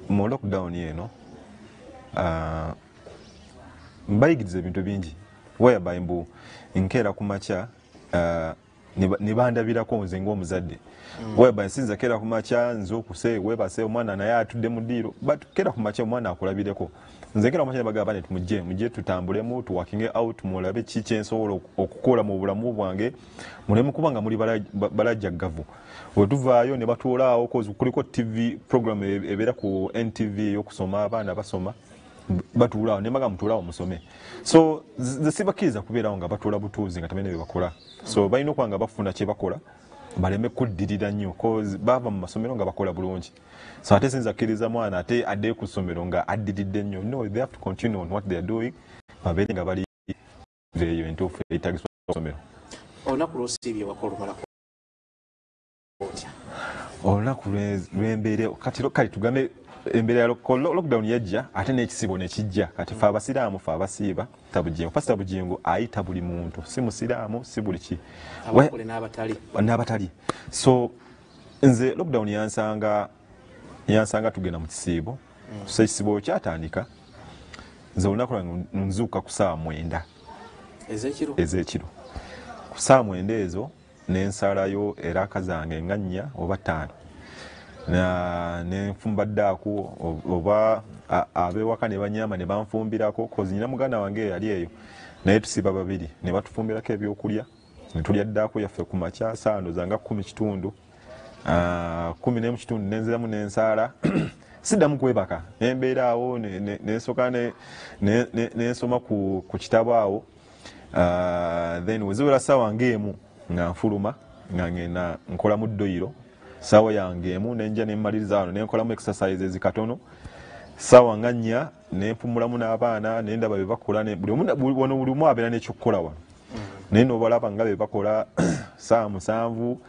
mu lockdown eno mbayigiriza ebintu bingi, whereby mbu nkeera ku makya ne bandabirako nze ng'omuzadde, whereby nsinza keera ku makya nze okuse weebase omwana naye atudde mu ddiiro, but keera ku makya omwana akulabireko. Nze nkeera ku makya ne bagamba nti mujje mujje tutambulemu, tuwakinge out, mulabe ki kyensobola okukola mu bulamu bwange, muleme kuba nga muli balajjaggavu. Bwe tuvaayo ne batuula awo, kuliko T V program ebeera ku N T V ey'okusoma, abaana basoma, batuula awo ne mbagamba mutuule awo musome. So nze sibakkiriza kubeerawo nga batuula butuuzi nga tebalina bye bakola. So balina okuba nga bafuna kye bakola, baleme kuddirira nnyo, cause bava mu masomero nga bakola bulungi. So ate sinza kkiriza mwana ate addeyo ku ssomero nga addiridde nnyo. No, they have to continue on what they are doing, babeere nga bali eyo entuufu eyetagisibwa ku ssomero. Olunaku lwosiibye waka olumalako otya? Olunaku lwembeere kati, kale tugambe embeera ya lockdown yajja ate n'ekisibo ne kijja. Kati fe abasiraamu, fe abasiiba, Bugingo, Pasita Bugingo ayita buli muntu, si musiraamu, si buli ki, n'abatali. So nze lockdown yansanga yansanga tugenda mu kisiibo. So ekisiibo kyatandika, nze olunaku lwange nzuuka ku ssaawa mwenda ez'ekiro. Ku ssaawa mwenda ezo nensalayo eraka zange nga nnya oba ttaano, nenfumba ddaako, oba ab'ewaka ne banyama ne banfumbirako, cause nyina muganda wange yali eyo naye tusiba babiri, ne batufumbirako ebyokulya ne tulya ddaako yaffe ku makya saano zanga kumi kitundu, kumi n'emu kitundu nenziramu nensaala, siddamu kwebaka, nembeera awo nensooka nensoma ku kitabo awo. Then weziwera ssaawa ng'emu nga nfuluma nga ngenda nkolamu ddoyiro saawa yange emu, nenja nemmaliriza wano nenkolamu exercises katono, saawa nga nnya nempumulamu n'abaana nendaba bye bakola. Wano buli omu abeera n'ekyokukola wano, naye nobalaba nga bye bakola. Saawa musanvu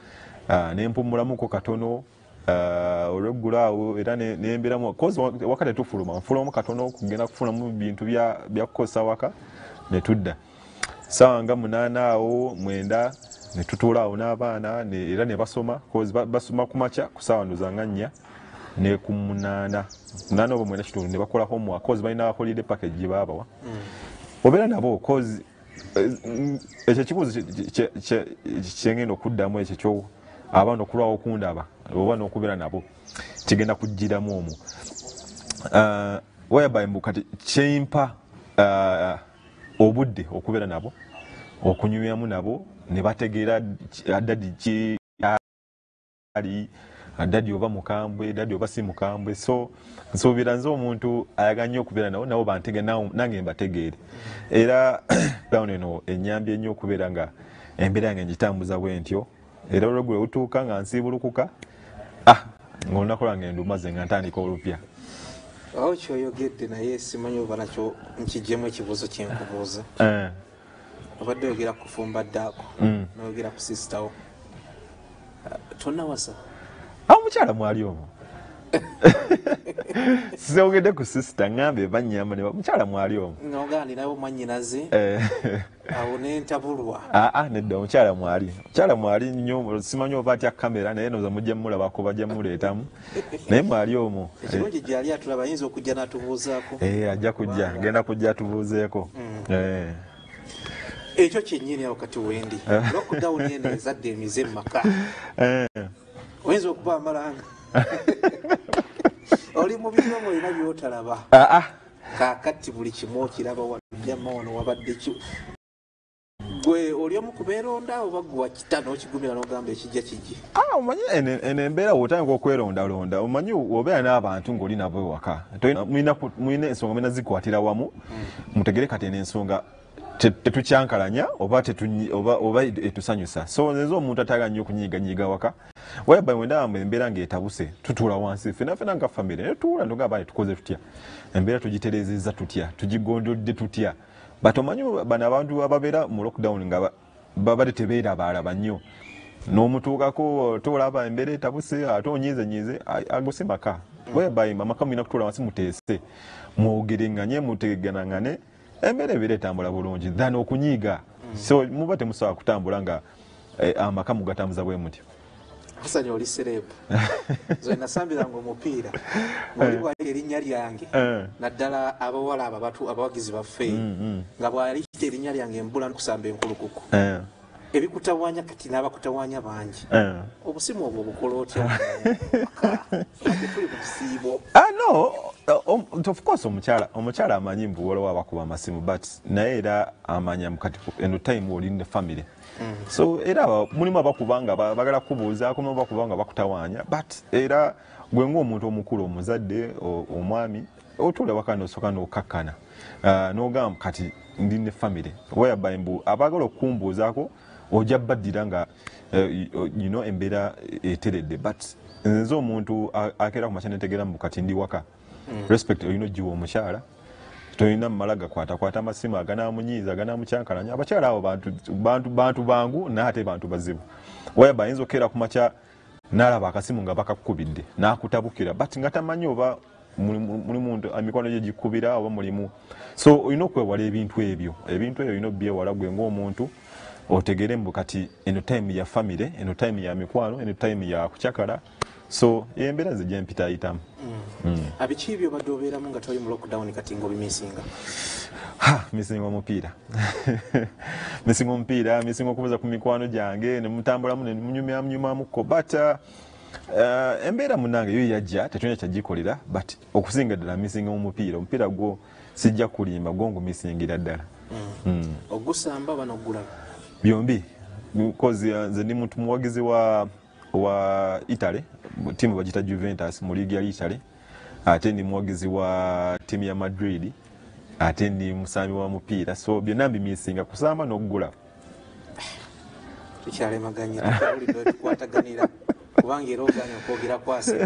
nempumulamuko katono, Uh, olweggulo awo era nembeeramu kozi waka tetufuluma, nfulumamu katono okugenda kufunamu bintu bya kukozesa waka ne tudda. Ssaawa nga munaana awo mwenda ne tutuula awo n'abaana era ne basoma, kozi basoma ku makya ku ssaawa ndowooza nga nnya ne ku munaana munaana oba mwenda kitundu ne bakola homework, kozi balina holiday package gye baabawa. Obeera nabo kozi ekyo ekibuuzo kyengenda okuddamu ekyo kyo abaana okulwawo okundaba oba n'okubeera nabo kigenda kujjiramu omwo. Whereby mbu kati kyempa obudde okubeera nabo, okunyumyamu nabo ne bategeera daddy ki ali, daddy oba mukambwe, daddy oba si mukambwe. So nsuubira nze omuntu ayagala nnyo okubeera nabo, nabo bantegeere nange mbategeere. Era lockdown eno ennyambye nnyo okubeera nga embeera yange ngitambuza bwe ntyo. Era olweggulo lutuuka nga nsiibulukuka, ah, ng'olunaku lwange ndumaze nga ntandika olupya. Awo kyoyogedde naye simanyi oba nakyo nkiggyemu ekibuuzo kye nkubuuza. Obadde oyogera ku kufumba ddaako, n'oyogera ku sister wo. Tonnawasa? Awo omukyala mwali omwo. Siyogedde ku sister, ŋŋambye bannyamba ne mukyala mwali omwo. N'ogamba ninawo mwannyinaze, awo ne ntabulwa. Aa, nedda omukyala mwali. Omukyala mwali nnyo, simanyi oba atya kamera naye ndowooza mujja mmulabako bajja mmuleetamu. Naye mwali omwo. Ekirungi gy'ali atulaba ayinza okujja n'atubuuzaako. Eh, ajja kujja, agenda kujja atubuuzeeko. Eh. Ekyo kyennyini awo kati wendi. Lockdown eno ezadde emize mu maka. Oyinza okuba amalanga. Oli mu biro ng'olina by'otalaba. Kaakati buli kimu okiraba wano wano wabadde ki. Gwe oli omu ku beeronda oba gwe wakita n'okigumira n'ogamba ekijja kijje? Ah, omanyi eno embeera bw'otandika okwerondalonda, omanyi obeera n'abantu ng'oli nabo ewaka. Mulina ensonga mulina zikwatira wamu, mutegere kati eno ensonga tetukyankalanya oba oba etusanyusa. So nze omuntu atayagala nnyo okunyiiganyiiga waka. Whereby bwe ndaba embeera ng'etabuse, tutuula wansi ffenna ffenna nga famire ne tutuula ne tugamba tukoze tutya, embeera tugitereezezza tutya, tugigondodde tutya. But omanyi bano abantu ababeera mu lockdown nga babadde tebeerabaalaba nnyo, n'omutuukako tolaba embeera etabuse ate onyiizenyiize, ago si maka. Whereby amaka mulina kutuula wansi muteese, mwogerenganye, mutegeeragane, embeera ebeera etambula bulungi than okunyiiga. So muba temusobola kutambula nga amaka mugatambuza bwe mutyo. Hassan oli celeb. Nze nasambiranga omupiira ng'oli bw'ali erinnya lyange, naddala abawala abo abatu abawagizi baffe, nga bw'aliyita erinnya lyange mbula n'okusamba enkulukuku. Ebikutawaanya kati n'abakutawaanya bangi. Obusimu obwo obukola otya? Tuli mu kisiibo. Ah, no, of course omukyala omukyala amanyi mbu waliwo abakuba amasimu, but naye era amanya kati eno time oli ne family. So era mulimu abakuba nga bagala kubuuzaako, mulimu abakuba nga bakutawaanya, but era gwe ng'omuntu omukulu, omuzadde, omwami, otuula waka n'osooka n'okkakkana n'ogamba kati ndi ne family. Whereby mbu abaagala okukumbuuzaako ojja baddira nga you know embeera eteredde. But nze omuntu akeera ku makya netegeera mbu kati ndi waka, respect olina ogiwa omukyala. Tolina mmala gakwatakwata amasimu aganaamunyiiza, aganaamucyankalanya. Abakyala abo bantu bantu bantu bangu naye ate bantu bazibu. Whereby ayinza okukeera ku makya n'alaba akasimu nga bakakukubidde n'akutabukira, but nga tamanyi oba mulimu emikwano gye gikubira oba mulimu. So olina okwewala ebintu ebyo, ebintu ebyo olina obyewala gwe ng'omuntu otegere mbu kati eno time ya family, eno time ya mikwano, eno time ya kucakala. So embeera nze gye mpitaayitamu. Abiki ebyo obadde obeeramu nga toli mu lockdown kati ng'obimisinga? Ha, misinga omupiira. Misinga omupiira, misinga okubuuza ku mikwano gyange ne mutambulamu ne munyumyamunyumyamuko. But uh, embeera munnange yo yajja tetulina kyagikolera, but okusinga ddala misinga omupiira. Omupiira gwo sijja kulimba, gwo ngumisingira ddala. Ogusamba oba n'ogulaba? Byombi, because nze ndi muntu muwagizi wa wa Italy, tiimu bagiyita Juventus mu liigi ya Italy, ate ndi muwagizi wa tiimu ya Madrid, ate ndi musambi wa mupiira. So byonna mbimisinga, kusamba n'okugula. Tukyalemaganye, tukyawulidde tukwataganira kubanga era ogaanye okwogera kwase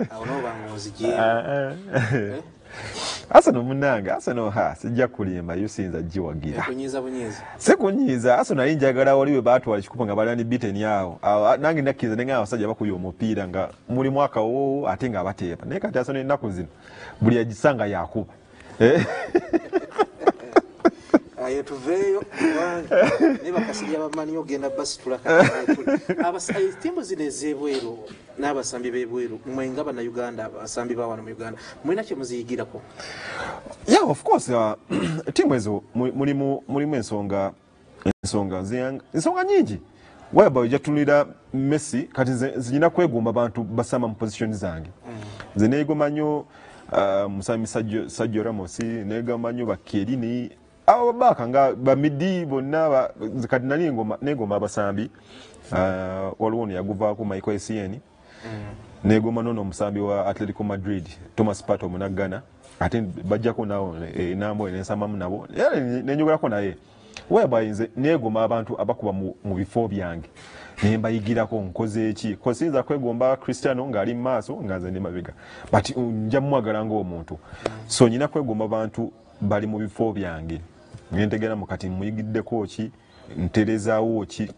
awo n'oba ng'onzigyemu. Arsenal munange, Arsenal ha sijja kulimba, yo siyinza giwagira. Kunyiza bunyiza. Sekunyiza, Arsenal nali njagala wali we baatwala ekikopo nga bali beaten awo. Nange nakkiriza ne ngamba abasajja bakuya omupiira nga mulimu akawoowo ate nga bateeba. Naye kati Arsenal ennaku zino buli agisanga yakuba. Ayo tuveeyo kubanga ne bakasirya bamanyi ogenda basitula kati. Ttiimu zino ez'ebweru n'abasambi b'ebweru mmwe nga Bannayuganda, abasambi ba wano mu Uganda, mulina kye muziyigirako? Yeah, of course, uh, ttiimu ezo mulimu mulimu ensonga ensonga ensonga nyingi. Whereby ojja tutunulira Messi, kati nze nina kwegomba abantu basamba mu position zange. Nze neegomba nnyo uh, musambi Sergio, Sergio Ramos, neegomba nnyo ba Chiellini, abo babaka nga ba midi bonna, kati nali negomba abasambi uh, waliwo ono yaguvaako Michael Essien, negomba nono omusambi wa Atletico Madrid Thomas Partey omunaggana, ate bajjako nawo enambo nensambamu nabo era nenyogerako naye. Whereby nze negomba abantu abakuba mu bifo byange ne mbayigirako nkoze eki, siyinza kwegomba Cristiano ng'ali mu maaso nga nze ndi mabega, but nja mumwagala ng'omuntu. So nyina kwegomba abantu bali mu bifo byange ngentegera mu kati muyigiddeko ki, nterezaawo ki,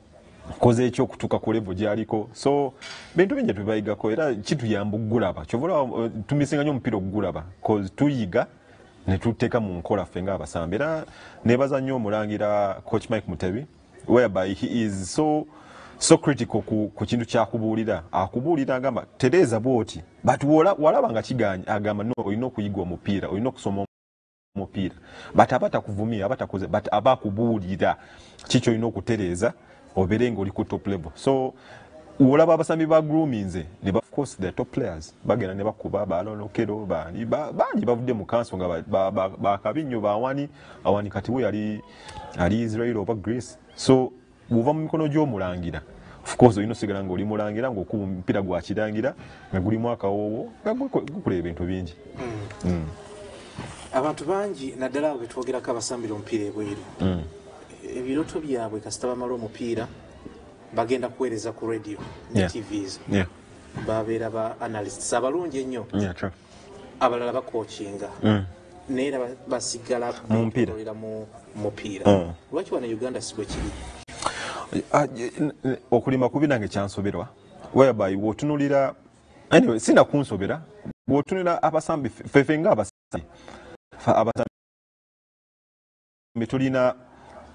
nkoze eki okutuuka ku level gy'aliko. So bintu bingi tubayigako era kituyamba okugulaba. Kyova olaba tumisinga nnyo omupiira okugulaba, cause tuyiga ne tuteeka mu nkola ffe ng'abasambi. Era neebaza nnyo omulangira Coach Mike Mutebi, whereby he is so so critical ku, ku kintu kyakubuulira. Akubuulira agamba tereeza bw'oti, but walaba nga kiganye agamba no, olina okuyiga omupiira, olina okusoma omupiira, but aba takuvumye, aba takoze, but aba akubuulira kiki olina okutereeza obeere ng'oli ku top level. So olaba abasambi ba groominze ne of course the top players bagenda ne bakuba ba Aaron Okello, bani bangi bavudde mu kanso nga bakabi nnyo, bawani awani kati we yali ali Israel oba Greece. So bw'ova mu mikono gy'omulangira, of course olina osigala ng'oli mulangira ng'okuba omupiira gwa kirangira nga gulimu akawoowo nga gukola ebintu bingi. Mm. Abantu bangi naddala abo betwogerako abasambira omupiira ebweru, ebirooto byabwe kasita bamala omupiira bagenda kuweereza ku radio ne Yeah. T Vs. Yeah. Babeera ba analysts abalungi ennyo. Yeah, true. Abalala bakoochinga. Mm. Naye era basigala mu mupiira. beetooloolera mu mupiira. Mm. Lwaki wano Uganda si bwe kiri? Okulima kubi nange kyansoberwa. Whereby bw'otunuulira, anyway, sina kunsobera, bw'otunuulira abasambi ffeffe nga abasambi, abasambi tulina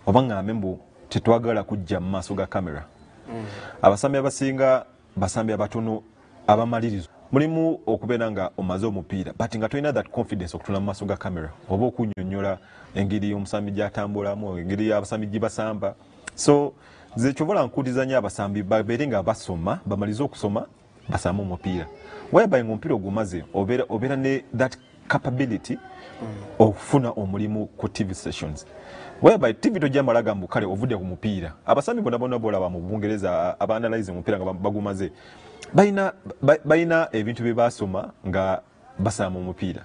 oba ngambe mbu tetwagala kujja mu maaso ga kamera. Mm. Abasambi abasinga basambi abatono abamalirizo. Mulimu okubeera nga omaze omupiira, but nga tolina that confidence okutula mu maaso ga kamera oba okunnyonnyola engeri omusambi gy'atambulamu, engeri abasambi gye basamba. So nze kyova nkuutiriza nnyo abasambi babeere nga basoma, bamalize okusoma basambe omupiira. Whereby ng'omupiira ogumaze obeera, obeera ne that capability okufuna omulimu ku T V stations. Whereby T V tojja malaga mbu kale ovudde ku mupiira. Abasambi bonna bonna b'olaba mu Bungereza abaanalyze omupiira nga bagumaze, balina, balina ebintu bye baasoma nga basamba omupiira.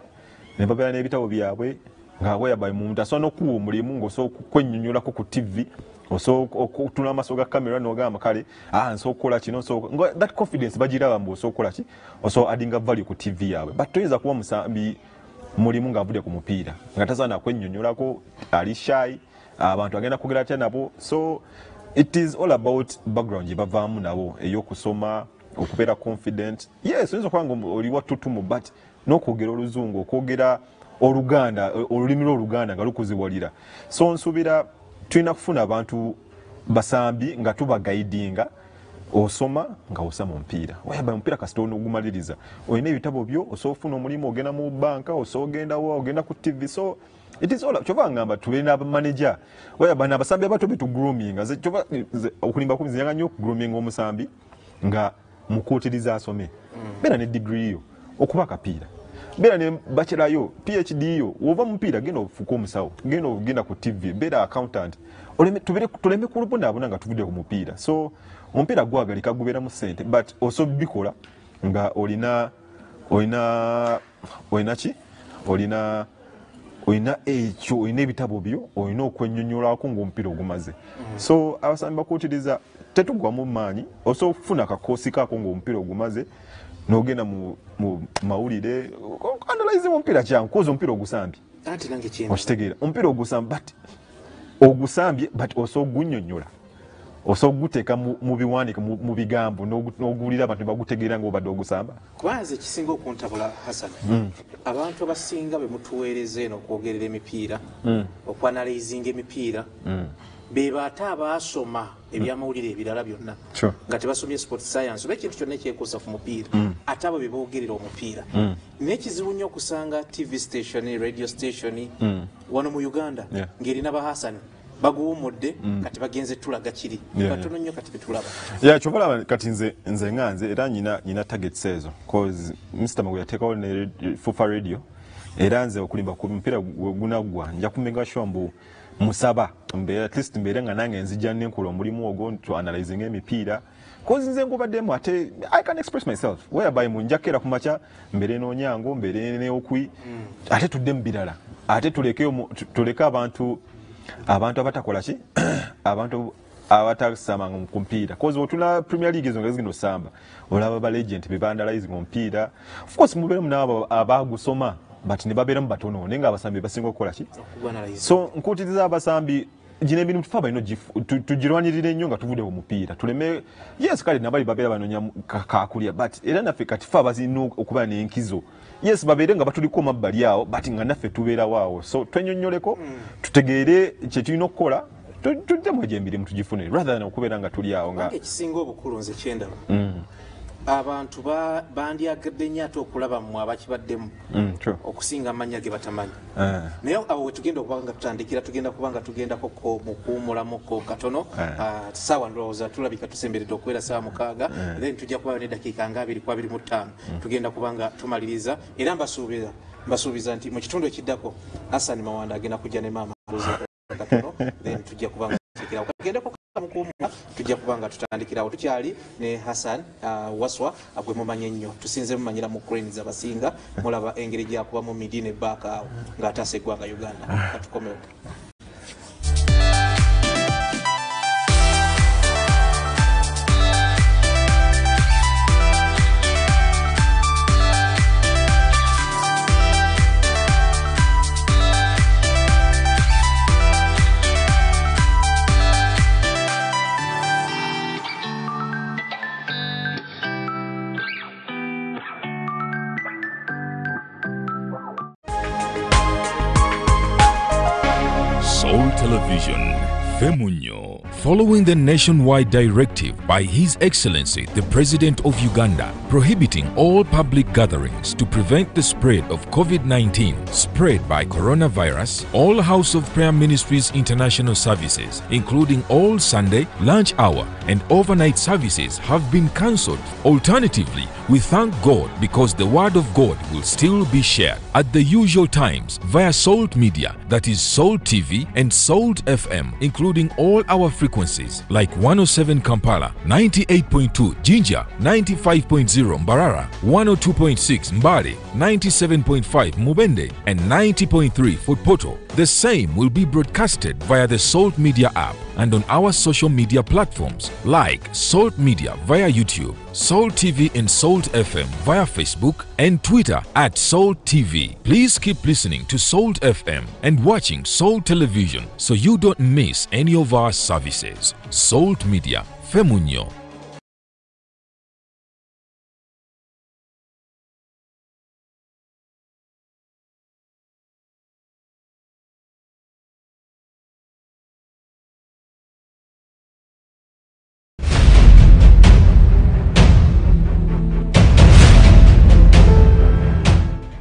Ne babeera n'ebitabo byabwe nga whereby omuntu asobola n'okuwa omulimu ng'osobola okwennyonnyolako ku T V, osobola okutunula amaaso ga kamera n'ogamba kale, ah, nsobola okukola kino, nsobola, that confidence bagiraba mbu osobola okukola ki, osobola addinga value ku T V yaabwe. But toyinza kuba musambi mulimu ng'avudde ku mupiira nga tasobola na kwennyonnyolako, ali shy, abantu agenda kwogera atya nabo. So it is all about background gye bavaamu nabo ey'okusoma, okubeera confident. Yes, oyinza okuba nga oli wa ttutumu, but n'okwogera oluzungu, okwogera Oluganda, olulimi lw'Oluganda nga lukuziwalira. So nsuubira tulina kufuna abantu basambi nga tubagaidinga, osoma nga osama omupiira. Whereby omupiira kasita onogumaliriza, olina ebitabo byo, osobola okufuna omulimu, ogenda mu banka, osobola ogenda wa, ogenda ku T V. So it is all, kyova ngamba tubeere n'abamaneja. Whereby n'abasambi abato be tugroominga. Nze kyova, nze okulimba kubi, nze njagala nnyo okugroominga omusambi nga mukuutiriza asome. Beera ne degree yo, okuba akapiira. Beera ne bachelor yo, P H D yo, w'ova mu mupiira genda ofuuke omusawo, genda ogenda ku T V, beera accountant. Oleme, tubere, tuleme kubonaabona nga tuvudde ku mupiira. So omupiira gwagalika gubeeramu ssente, but osobola bikola nga olina, olina, olina ki? Olina, olina ekyo, olina ebitabo byo, olina okwennyonnyolako ng'omupiira ogumaze. So abasambi bakuutiriza tetugwamu maanyi, osobola okufuna akakoosi kaako ng'omupiira ogumaze n'ogenda mu, mu mawulire, Okwanalize omupiira kyangu koza omupiira ogusambye. Anti nange kyenda. Okitegeera omupiira ogusambye but ogusambye but oso ogunnyonnyola. Oso oguteeka mu biwandiiko mu bigambo n'oguwulira abantu ne bagutegeera ng'obadde ogusamba. Kubanze ekisinga okuntabula Hassan. Mm. Abantu abasinga be mutuweereza eno okwogerera emipiira, mm. okwanalizinga emipiira, mm. be baate abaasoma ebyamawulire ebirala byonna Sure. nga tebasomye sport science oba ekintu kyonna ekyekuusa ku mupiira, Mm. ate abo be boogerera omupiira. Mm. Naye kizibu nnyo okusanga T V station, radio station Mm. wano mu Uganda Yeah. ng'erina ba Hassan baguwumudde mm. kati bagenze tulaga kiri Yeah, batono yeah. nnyo kati betulaba. Yeah, kyova kati nze nze nga nze era nyina nyina targets ezo cause Mister Magu yateekawo ne Fufa Radio era nze okulimba ku mupiira gunaggwa nja kumega sure mbu musaba mbeera at least mbeere nga nange nzija nenkola omulimu ogwo to analyzing emipiira cause nze ngubaddemu ate I can express myself whereby mu njakeera ku makya mbeere n'Onyango mbeere ne Okwi mm. ate tudde mu birala ate tuleke tuleke abantu abantu abatakola ki abantu abatasambanga ku mupiira cause otula Premier League ezo nga zigenda osamba olaba ba legend be vandalizing omupiira of course mubeeremu n'abo abagusoma but ne babeeramu batono naye nga abasambi basinga okukola ki so nkuutiriza abasambi gino emirimu tufe balina tugirwanirire nnyo nga tuvudde ku mupiira tuleme yes kale nabali babeera banoonya kakulya but era naffe kati fe abazirina okuba n'enkizo yes babeere nga batuliko mabbali awo but nga naffe tubeerawo awo so twenyonnyoleko mm. tutegeere kye tulina okukola tuddemu egyo emirimu tugifune rather than okubeera nga tuli awo nga ekisinga obukulu nze kyendaba mm. abantu bandyagadde nnyo ate okulaba mmwe abakibaddemu mm, okusinga amannya ge batamanyi uh. naye awo we tugenda okuba nga tutandikira tugenda kuba nga tugendako mu kuwummulamuko katono uh. uh, ssaawa ndowooza tulabika tusemberedde okubeera ssaawa mukaaga uh. then tujja kuba n'eddakiika nga abiri ku abiri mu ttaano mm. tugenda kuba nga tumaliriza era mbasuubiza mbasuubiza nti mu kitundu ekiddako Hassan Mawanda agenda kujja ne maama katono then tujja kuba nga tutekerawo kagendeko mukuwummula tujja kuba nga tutandikirawo tukyali ne Hassan uh, Waswa gwe mumanye nnyo tusinze mumanyira mu Cranes abasinga mulaba engeri gyakubamu midi ne baaka awo ng'ataasa eggwanga Uganda katukomewo. Television, Femunyo. Following the nationwide directive by His Excellency the President of Uganda prohibiting all public gatherings to prevent the spread of COVID nineteen spread by coronavirus, all House of Prayer Ministries International services, including all Sunday, lunch hour and overnight services have been cancelled. Alternatively, we thank God because the Word of God will still be shared at the usual times via Salt Media, that is Salt T V and Salt F M, including all our frequencies like one oh seven Kampala, ninety-eight point two Jinja, ninety-five point zero Mbarara, one oh two point six Mbale, ninety-seven point five Mubende, and ninety point three Fort Portal. The same will be broadcasted via the Salt Media app and on our social media platforms like Salt Media via YouTube, Salt T V and Salt F M via Facebook and Twitter at Salt T V. Please keep listening to Salt F M and watching Salt Television so you don't miss any of our services. Salt Media, Femunyo.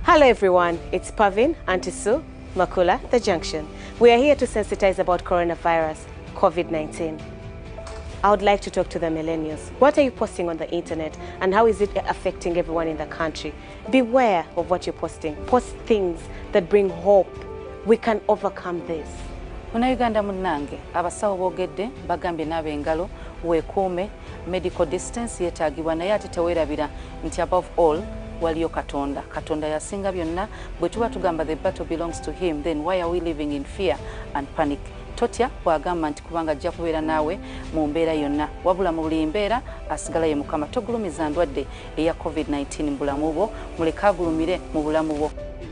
Hello everyone, it's Pavin, Auntie Sue, Makula, The Junction. We are here to sensitize about coronavirus, COVID nineteen. I would like to talk to the millennials. What are you posting on the internet and how is it affecting everyone in the country? Beware of what you're posting. Post things that bring hope. We can overcome this. Munnayuganda munnange, abasawo boogedde bagambye n'ab'engalo weekuume, medical distance yeetaagibwa naye ate teweerabira nti above all waliyo Katonda. Katonda yasinga byonna. Bwe tuba tugamba the battle belongs to him, then why are we living in fear and panic? Totya bw'agamba nti kubanga ajja kubeera naawe mu mbeera yonna, wabula mu buli mbeera asigala ye Mukama. Togulumiza ndwadde eya COVID nineteen mu bulamu bwo, muleke agulumire mu bulamu bwo.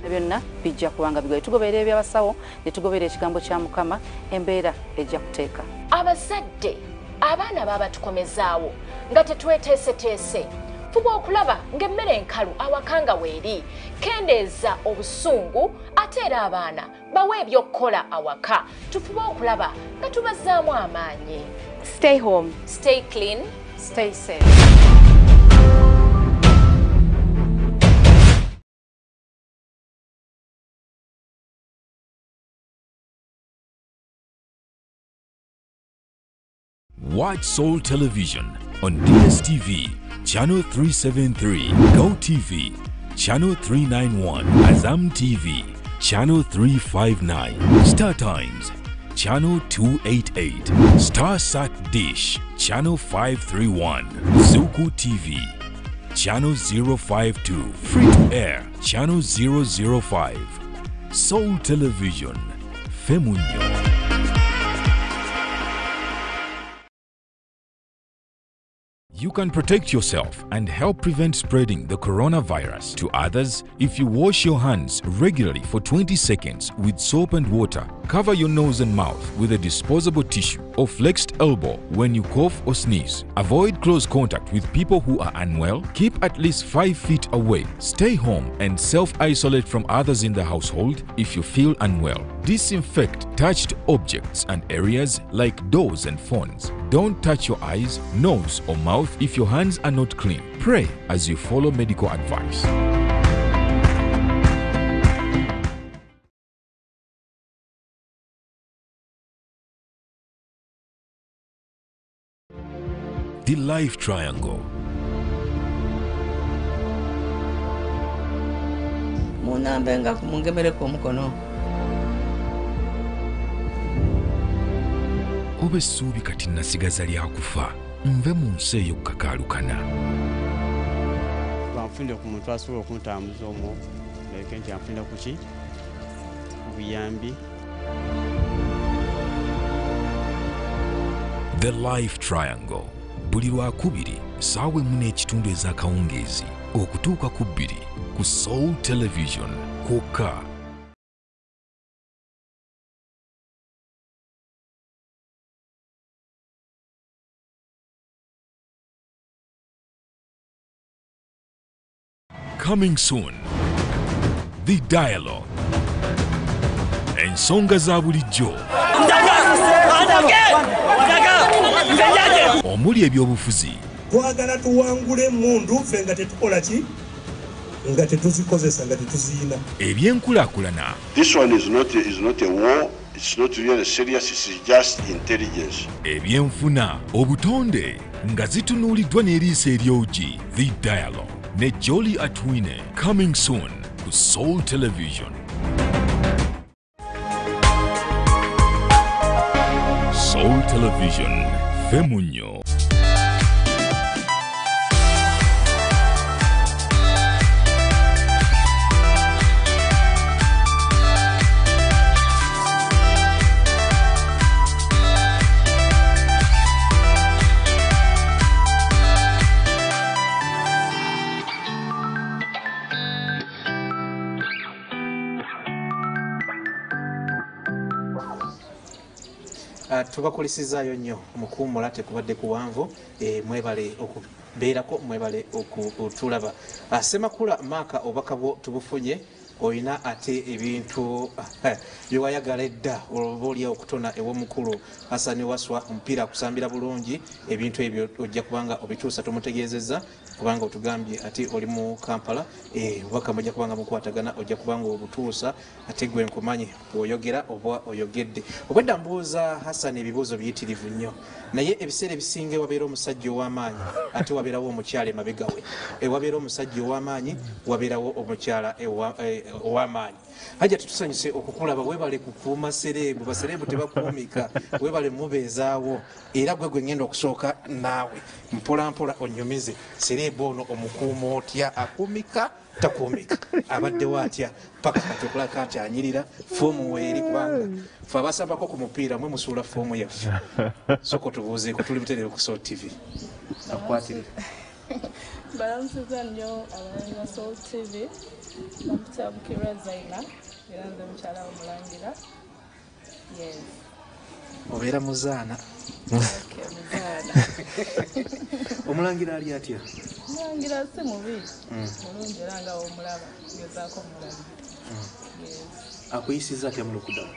Byonna bijja kubanga bigoye. Tugoberera ebyabasawo ne tugoberera ekigambo kya Mukama, embeera ejja kuteeka. Abazadde abaana baba tukomezaawo nga tetweteeseteese. Fuba okulaba ng'emmere enkalu awaka nga weeri, kendeeza obusungu, ate era abaana bawe ebyokukola awaka. Tufube okulaba nga tubazzaamu amaanyi. Stay home, stay clean, stay safe. Watch Soul Television on D S T V, Channel three seven three, Go T V, Channel three nine one, Azam T V, Channel three five nine, Star Times, Channel two eight eight, StarSat Dish, Channel five three one, Zuku T V, Channel zero five two, Free to Air, Channel zero zero five, Soul Television, Femunyo. You can protect yourself and help prevent spreading the coronavirus to others if you wash your hands regularly for twenty seconds with soap and water. Cover your nose and mouth with a disposable tissue or flexed elbow when you cough or sneeze. Avoid close contact with people who are unwell. Keep at least five feet away. Stay home and self-isolate from others in the household if you feel unwell. Disinfect touched objects and areas like doors and phones. Don't touch your eyes, nose or mouth if your hands are not clean. Pray as you follow medical advice. The Life Triangle. Munambenga kumungemereko omukono. Oba essuubi kati nasigaza lya kufa, nve mu nsi eyo kukakaalukana. Banfunde ku muntu asobola okuntambuza omwo, leke nti anfunde ku ki? Obuyambi. The Life Triangle. Buli lwakubiri ssaawa emu n'ekitundu ez'akawungeezi okutuuka ku bbiri ku Soul Television kwokka. Coming soon, The Dialogue. Ensonga za bulijjo. Omuli ebyobufuzi. Twagala tuwangule emmundu ffe nga tetukola ki? Nga tetuzikozesa, nga tetuziyina. Ebyenkulaakulana. This one is not, is not a war, it's not really serious, it's just intelligence. Ebyenfuna, obutonde nga zitunuuliddwa n'eriiso eryogi. The Dialogue ne Jolly Atwine, coming soon ku Soul Television. Soul Television, Femunyo. Tubakulisizaayo nnyo omukuumula tekubadde kuwanvu, e, mwebale okubeerako, mwebale okutulaba. Ssemakula Maaka obubaka bwo tubufunye, oyina ate ebintu byewayagala edda oba oli okutona ew'omukulu Hassan Waswa, omupiira akusambira bulungi, ebintu ebyo ojja kubanga obituusa tumutegeezezza kubanga otugambye ate oli mu Kampala, obubaka mujja kubanga mukwatagana, ojja kubanga obutuusa ate gwe nkumanyi bw'oyogera oba oyogedde. Obwedda mbuuza Hassan ebibuuzo biyitirivu nnyo, naye ebiseera ebisinga wabeera omusajja ow'amaanyi ate wabeerawo omukyala emabega we, wabeera omusajja ow'amaanyi wabeerawo omukyala ow'amaanyi. Hajja tutusanyuse okukulaba, webale kukuuma sereebu, basereebu tebakuumika, webale mubeezaawo, era gwe gwe ngenda okusooka naawe mpola mpola onyumize sereebu ono omukuuma otya, akuumika takuumika, abaddewo atya paka kati okulaka nti anyirira foomu weeri, kubanga fe abasambako ku mupiira mwe musuula foomu yaffe. Sooka otubuuzeeko, tuli butereevu ku Soul T V. Akwatirira. Mbalamusiza nnyo abalabi ba Salt T V. Bampita Bukirwa Zaina, era nze mukyala w'omulangira. Yes. Obeera muzaana. Okay, muzaana. Omulangira ali atya? Omulangira si mubi. Mulungi era nga w'omulaba, ngezaako omulabirira. Yes. Akuyisizza atya mu lockdown?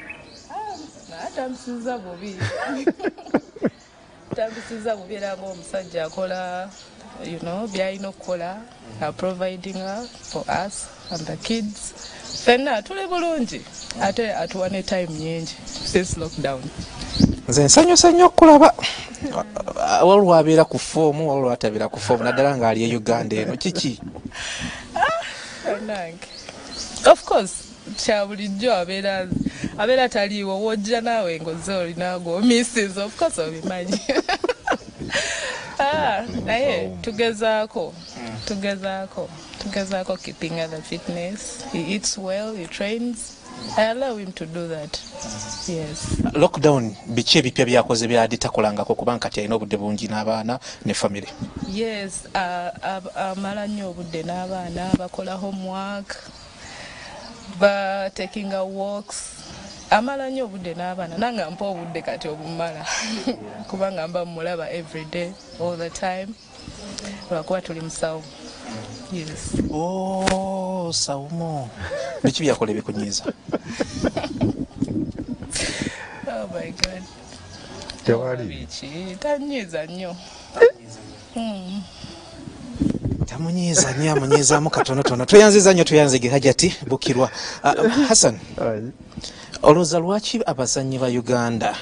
Ah, atampisiza bubi. Tampisiza bubi era ng'omusajja akola, you know, by'alina okukola, providing for us and the kids. Ffenna tuli bulungi ate atuwa ne time nyingi since lockdown. Nze nsanyuse nnyo okulaba waliwo abeera ku foomu, waliwo atabeera ku foomu, naddala ng'ali e Uganda eno. Kiki? Bannange. Of course, kya bulijjo abeera abeera taliiwo, w'ojja naawe ng'ozze olina gw'omisses, of course obimanyi. Ah, naye tugezaako, tugezaako, tugezaako keeping the fitness. He eats well, he trains. I allow him to do that. Yes. Lockdown biki ebipya byakoze byadde takolangako kubanga kati alina obudde bungi n'abaana ne family? Yes, amala nnyo obudde n'abaana, bakola homework, ba taking a walks. Amala nnyo obudde n'abaana, nange ampa obudde kati obumala kubanga mba mmulaba every day, all the time, lwakuba tuli musawo. Yes. Oh, Saumu. Biki byakola ebikunyiiza? Oh my God. Tewali. Biki tanyiiza nnyo. Tamunyiiza nnyo, amunyiizaamu katonotono. Tweyanziza nnyo, tweyanzige Hajati Bukirwa. Uh, Hassan, olowooza lwaki abazannyi ba Uganda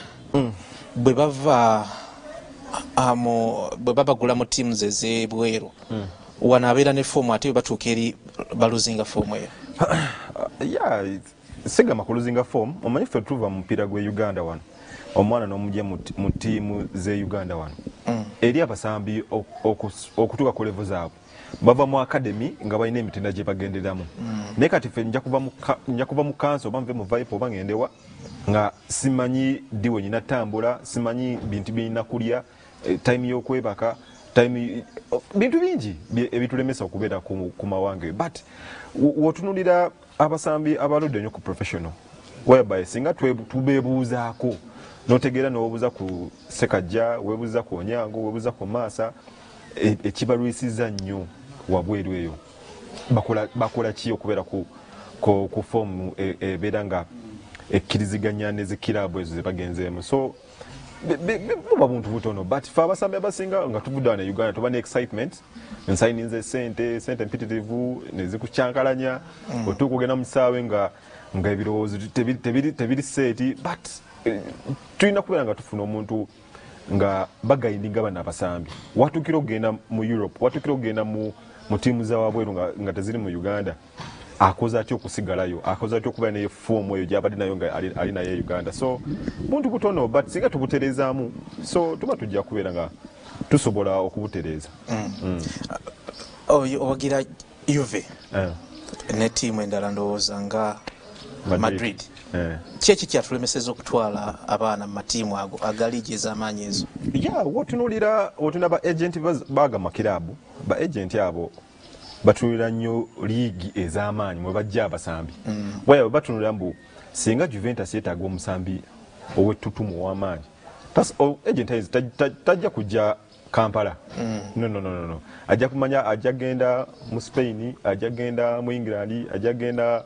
bwe bava bwe babagula mu ttiimu ez'ebweru wano abeera ne foomu ate bwe batuuka eri baluzinga foomu eyo? Yeah, sigama kuluzinga foomu. Omanyi ffe tuva mu mupiira gw'e Uganda wano, omwana n'omugya mu ttiimu z'e Uganda wano eri abasambi okutuuka ku level zaabwe bava mu academy nga balina emitendera gye bagenderamu. Naye kati ffe nja kuva mu kanso oba nve mu Viper oba ngendewa nga simanyi ddi we nnina ttambula, simanyi bintu bye nnina kulya, time y'okwebaka, time, bintu bingi ebitulemesa okubeera ku mawanga. But w'otunuulira abasambi abaludde ennyo ku professional, whereby singa tubeebuuzaako n'otegeera n'obuuza ku Sekajja, weebuuza ku Onyango, weebuuza ku Maasa, ekibalwisiza nnyo wabweru eyo bakola ki okubeera ku foomu ebeera nga ekkiriziganya ne zikiraabu ezo ze bagenzeemu. So buba buntu butono, but ffe abasambi abasinga nga tuvudde wano e Uganda tuba ne excitement, nsayininze sente, sente mpitirivu ne zikukyankalanya, otuuka ogenda mu kisaawe nga nga ebirowoozo tebiri seeti. But tulina kubeera nga tufuna omuntu nga bagayindinga bano abasambi. Watuukira okugenda mu Europe, watuukira okugenda mu ttiimu za wabweru nga teziri mu Uganda, akoze atya okusigalayo, akoze atya okubeera naye foomu eyo gy'abadde nayo nga ali naye e Uganda. So buntu butono, but singa tubutereezaamu, so tuba tujja kubeera nga tusobola okubutereeza. Owagira Juve ne ttiimu endala ndowooza nga Madrid. Ki eki kyatulemesezza okutwala abaana mu matiimu ago aga liigi ez'amaanyi ezo? Yeah, w'otunuulira w'otunula ba agent baga makiraabu, ba agent abo batunuulira nnyo liigi ez'amaanyi mwe bajja abasambi. Waya batunuulira mbu singa Juventus yeetaaga omusambi ow'ettutumu ow'amaanyi, agent tajja kujja Kampala. No, no, no, no. Ajja kumanya, ajja genda mu Spain, ajja genda mu England, ajja genda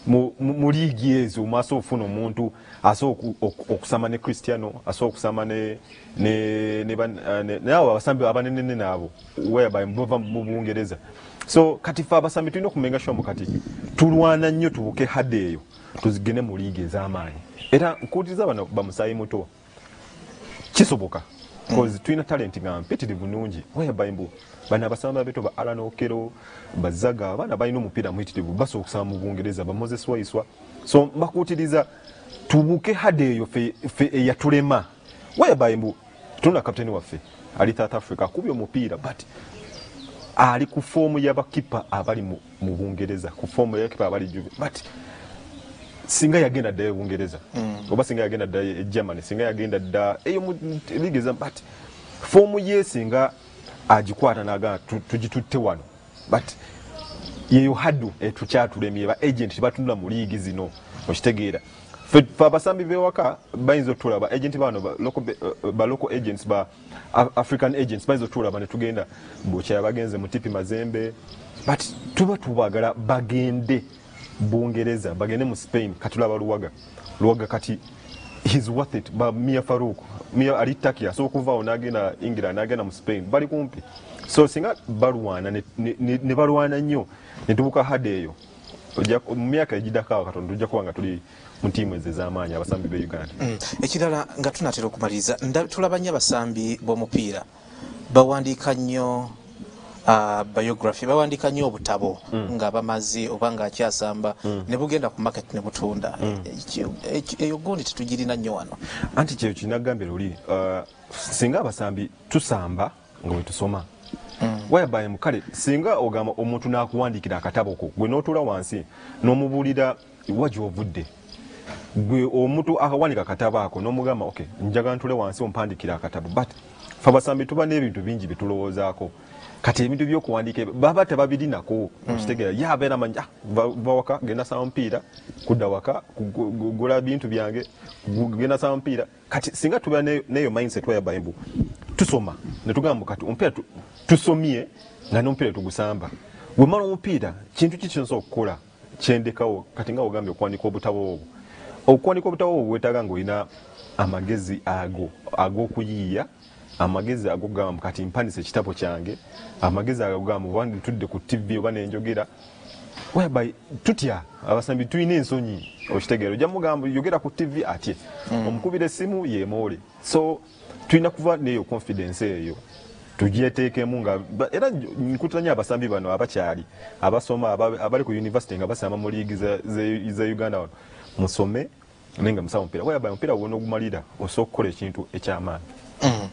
mu liigi ezo maaso ofuna omuntu asobola okusama ne Cristiano, asobola okusama ne abo abasambi abanenene naabo whereby bava mu Bungereza. So kati ffe abasambi tulina okumenga sure kati tulwana nnyo tubuke hadde eyo tuzigende mu liigi ez'amaanyi. Era nkuwuliriza bano bamusaayi muto, kisoboka because tulina talent nga mpitirivu nnungi whereby mbu bano abasambi abeto ba Alan Okello, Bazaga, abaana balina omupiira muyitirivu basobola okusamba mu Bungereza, ba Moses Waiswa. So mbakuutiriza tubuke hadde eyo ffe eyatulema whereby mbu tulina kapiteeni waffe ali South Africa akubye omupiira, but ali ku foomu y'abakipa abali mu Bungereza, ku foomu y'abakipa abali Juve, but singa yagenda dda e Bungereza oba singa yagenda dda e Germany, singa yagenda dda eyo mu liigi eza, but foomu ye singa agikwata naga tugitutte wano, but yeyo hadu etukyatulemye ba agent batunula mu liigi zino, okitegeera. Fe abasambi bewaka bayinza otulaba agent bano ba local, ba local agents, ba African agents bayinza otulaba ne tugenda bwokya bagenze mu Tipi Mazembe, but tuba tubagala bagende Bungereza, bagende mu Spain. Katulaba Luwaga, Luwaga kati he's worth it. Ba Mia Farouk, Mia ali Turkey, so kuva onagenda England, nagenda mu Spain, bali kumpi. So singa balwana ne, ne, ne balwana nnyo ne tubuka hade eyo, mu myaka egiddako Katonda tujja kuba nga tuli mu ttiimu ezo ez'amaanyi abasambi be Uganda. Mm. Ekirala nga tunatera okumaliriza, tulaba nnyo abasambi b'omupiira bawandiika nnyo uh, biography, bawandiika nnyo obutabo mm. nga bamaze oba nga akyasamba mm. ne bugenda ku market ne butunda. Eyo gundi tetugirina nnyo wano. Anti kyeyo kinagambye luli, uh, singa abasambi tusamba nga bwe tusoma mm. whereby mukale singa ogamba omuntu n'akuwandiikira akatabo ko, gwe n'otuula wansi n'omubuulira wa gy'ovudde, gwe omuntu akawandiika akatabo ako n'omugamba okay, njagala ntule wansi ompandikira akatabo. But fe abasambi tuba n'ebintu bingi bye tulowoozaako. Kati ebintu by'okuwandiika baba tebabirinako, okitegeera. Ye abeera amanyi, ah, va waka genda samba mupiira, kudda waka gula bintu byange, genda samba mupiira. Kati singa tuba n'eyo mindset whereby mbu tusoma ne tugamba kati omupiira tusomye nga n'omupiira tugusamba, bwemala omupiira kintu ki kyensobola okukola kyendekawo. Kati nga ogambye okuwandiika obutabo obwo, okuwandiika obutabo obwo weetaaga ng'olina amagezi ago ag'okuyiiya, amagezi ag'okugamba kati mpanise ekitabo kyange, amagezi ag'okugamba oba ntudde ku T V oba nenjogera, whereby tutya abasambi tulina ensonyi, okitegeera. Ojja mugamba yogera ku T V atye, omukubira essimu yemoole. So tulina kuva n'eyo confidence eyo tugyeteekemu nga era nkutira nnyo abasambi bano abakyali abasoma abali ku university nga basamba mu liigi za Uganda wano, musome naye nga musaba omupiira, whereby omupiira gwonna ogumalira osobola okukola ekintu eky'amaanyi. Mm.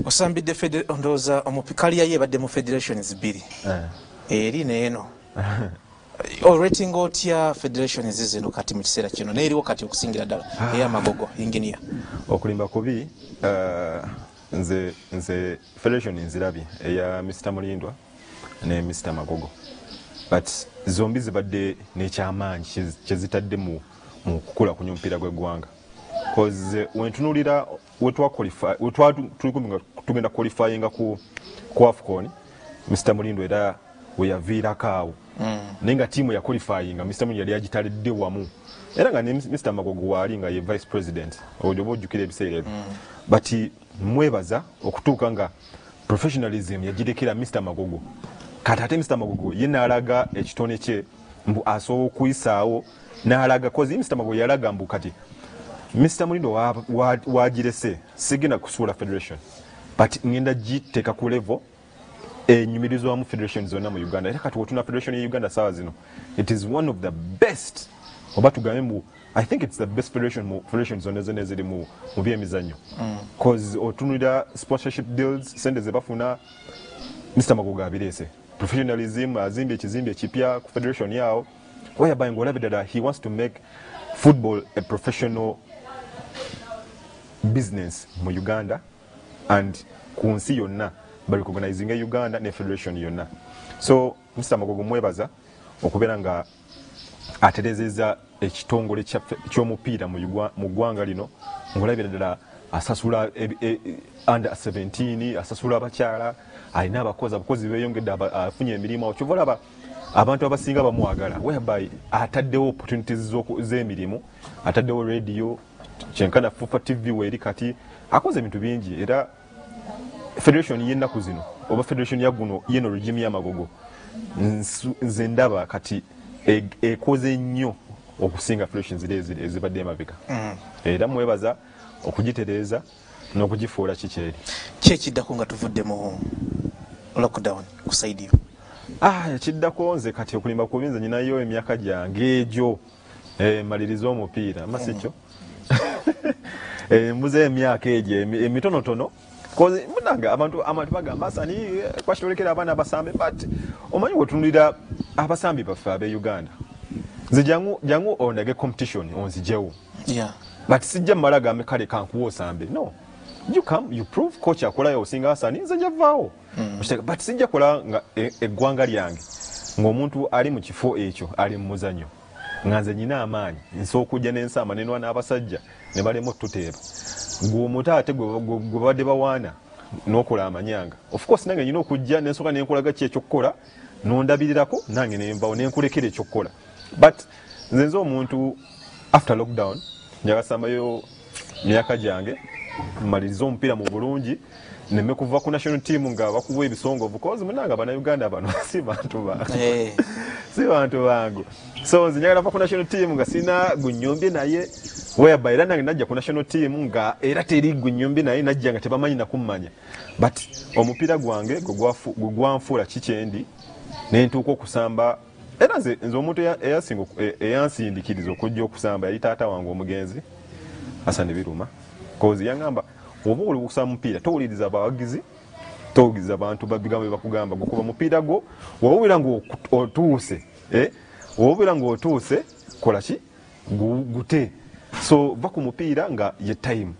Osambidde ndowooza kaliya ye ebadde mu federations bbiri, eri n'eno. Orating otya federations zino kati mu kiseera kino n'eriwo kati okusingira ddala ey'amagogo engineer? Okulimba kubi, uh, nze nze federation nzirabye eya Mister Mulindwa ne Mister Magogo, but zombi zibadde n'ekyamaanyi kyezitadde mu mu kukula kunya omupiira gw'eggwanga. Cause wentunuulira wetwa qualify wetwa tuli tugenda qualifyinga ku ku AFCON, Mister Mulindwa era we yaviirako awo mm. naye nga ttiimu ya qualifyinga Mister Mulindwa yali agitalidde wamu, era nga ne Mister Magogo waali nga ye vice president, oba ojjukira ebiseera ebyo. But mwebaza okutuuka nga professionalism yagirekera Mister Magogo. Kati ate Mister Magogo ye n'alaga ekitone kye mbu asobola okuyisaawo n'alaga, cause Mister Magogo yalaga mbu kati Mister Mulindwa wagirese sigenda kusuula federation, but ngenda giteeka ku level enyumirizwamu federation zonna mu Uganda. Era kati wotuna federation ya Uganda saawa zino, it is one of the best, oba tugambe mbu I think it's the best federation mu federation zonna zonna eziri mu mu byemizannyo, cause otunulira sponsorship deals, sente ze bafuna, Mister Magogo abireese professionalism, azimbye ekizimbe ekipya ku federation yawo, whereby ng'olabye ddala he wants to make football a professional business mu Uganda and ku nsi yonna barecognizinga Uganda ne federation yonna. So Mister Magogo mwebaza okubeera nga aterezeza ekitongole ky'omupiira mu ggwanga lino, ng'olabira ddala asasula under seventeen, asasula abakyala, alina abakozi, abakozi beeyongedde, afunye emirimu. Kyova olaba abantu abasinga bamwagala, whereby ataddewo opportunities z'emirimu, ataddewo radio kyenkana FUFA T V weeri kati akoze ebintu bingi. Era federation y'ennaku zino oba federation ya guno yeno regime y'amagogo nze ndaba kati ekoze nnyo okusinga federation ziri ezibadde emabega. Era mwebaza okugitereeza n'okugifuula kikyeri. Ki ekiddako nga tuvudde mu lockdown ku side yo? Ah, ekiddako nze kati okulimba kubi nze nyinayo emyaka gyange egyo eh, maliriza omupiira amasi kyo eh, mbuze emyaka egyo emitonotono. Cause munanga abantu abantu bagamba asani kwashitolekera abaana abasambe, but omanyi wetunulira abasambi baffe abe Uganda, nze jangu jangu ondage competition onzijewo, yeah, but sijja mmala gambe kale kankuwa osambe, no, You come, you prove coach akolayo osinga Hassan, nze njavaawo. Mm. But sijja kola nga eggwanga lyange ng'omuntu ali mu kifo ekyo ali mu muzannyo nga nze nyina amaanyi nsobola okujja n'ensaama nenwa n'abasajja ne balema otuteeba gwe omuto ate gwe babadde bawaana n'okola amanyanga. Of course nange nyina okujja nensooka nenkolaga ki ekyokukola nondabirirako nange nenvawo nenkulekera ekyokukola. But nze nze omuntu after lockdown njagasambayo myaka gyange mmalirize omupiira mu bulungi neme kuva ku national team nga bakuwa ebisongovu cause munanga bannayuganda bano si bantu bangu. Hey. Si bantu bangu. So nze njagala va ku national team nga sina gunyombye naye whereby era nange najja ku national team nga era teri gunyombye naye najja nga tebamanyi nakummanya. But omupiira gwange gwe gwanfuula kikyendi ne ntuuka okusamba era nze nze omuntu eyasinga eyansindikiriza okujja okusamba yali taata wange omugenzi Hassan Biruma cause yangamba oba oli okusamba mupiira towuliriza abawagizi towuliriza abantu babigambo bakugamba gukuba mupiira gwo wawulira ng'otuuse eh wawulira ng'otuuse kola ki gute so va ku mupiira nga ye time.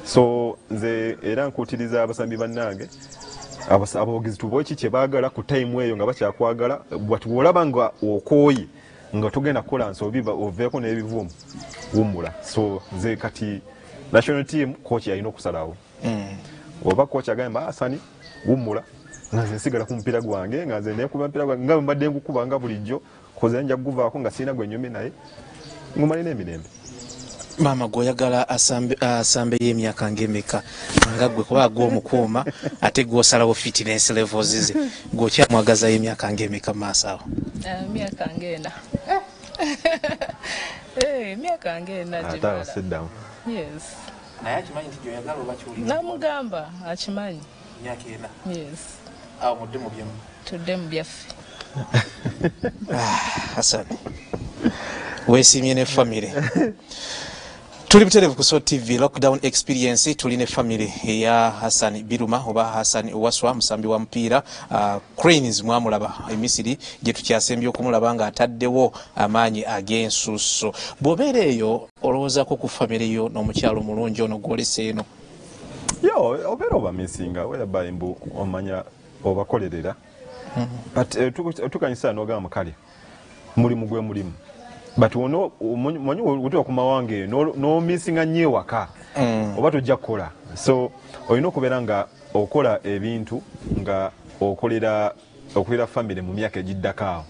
So nze era nkuutiriza abasambi bannange abawagizi tubawe ki kye baagala ku time eyo nga bakyakwagala but bw'olaba nga okooye nga togenda kukola nsobi oveeko n'ebivumu wummula. So nze kati national team coach alina okusalawo. Mm. Oba coach agamba Hassan wummula nga nze nsigala ku mupiira gwange nga nze nekuba mupiira gwange nga mbadde ngukuba nga bulijjo koze nja kuguvaako nga sirina gwe nnyumye naye ngumalina emirembe. Maama gw'oyagala asambe asambe y'emyaka ng'emeka nga gwe kuba gw'omukuuma ate gw'osalawo fitness levels ze gw'okyamwagaza y'emyaka ng'emeka mu maaso awo? Emyaka ng'ena. Eh, emyaka ng'ena gimala. Yes. Naye akimanyi nti gy'oyagala oba ky'oli? Namugamba akimanyi. Emyaka ena? Yes. Awo mudde mu byammwe? Tudde mu byaffe. Hassan, weesiimye ne famire. Tuli butereevu ku Salt T V lockdown experience tuli ne family eya Hassan Biruma oba Hassan Waswa musambi wa mupiira uh, Cranes mwamulaba e Misiri gye tukyasembye okumulaba nga ataddewo amaanyi ag'ensusso. Bw'obeera eyo olowoozaako ku family yo n'omukyalo omulungi ono gw'olese eno? Yo obeera obamisinga whereby mbu omanya obakolerera. Mm -hmm. But otukanyisa n'ogamba kale mulimu gwe mulimu. But ono manyi otuuka ku mawanga eyo n'omisinga nnyo ewaka oba tojja kukola. So olina okubeera nga okola ebintu nga okolera okolera family mu myaka egiddako awo.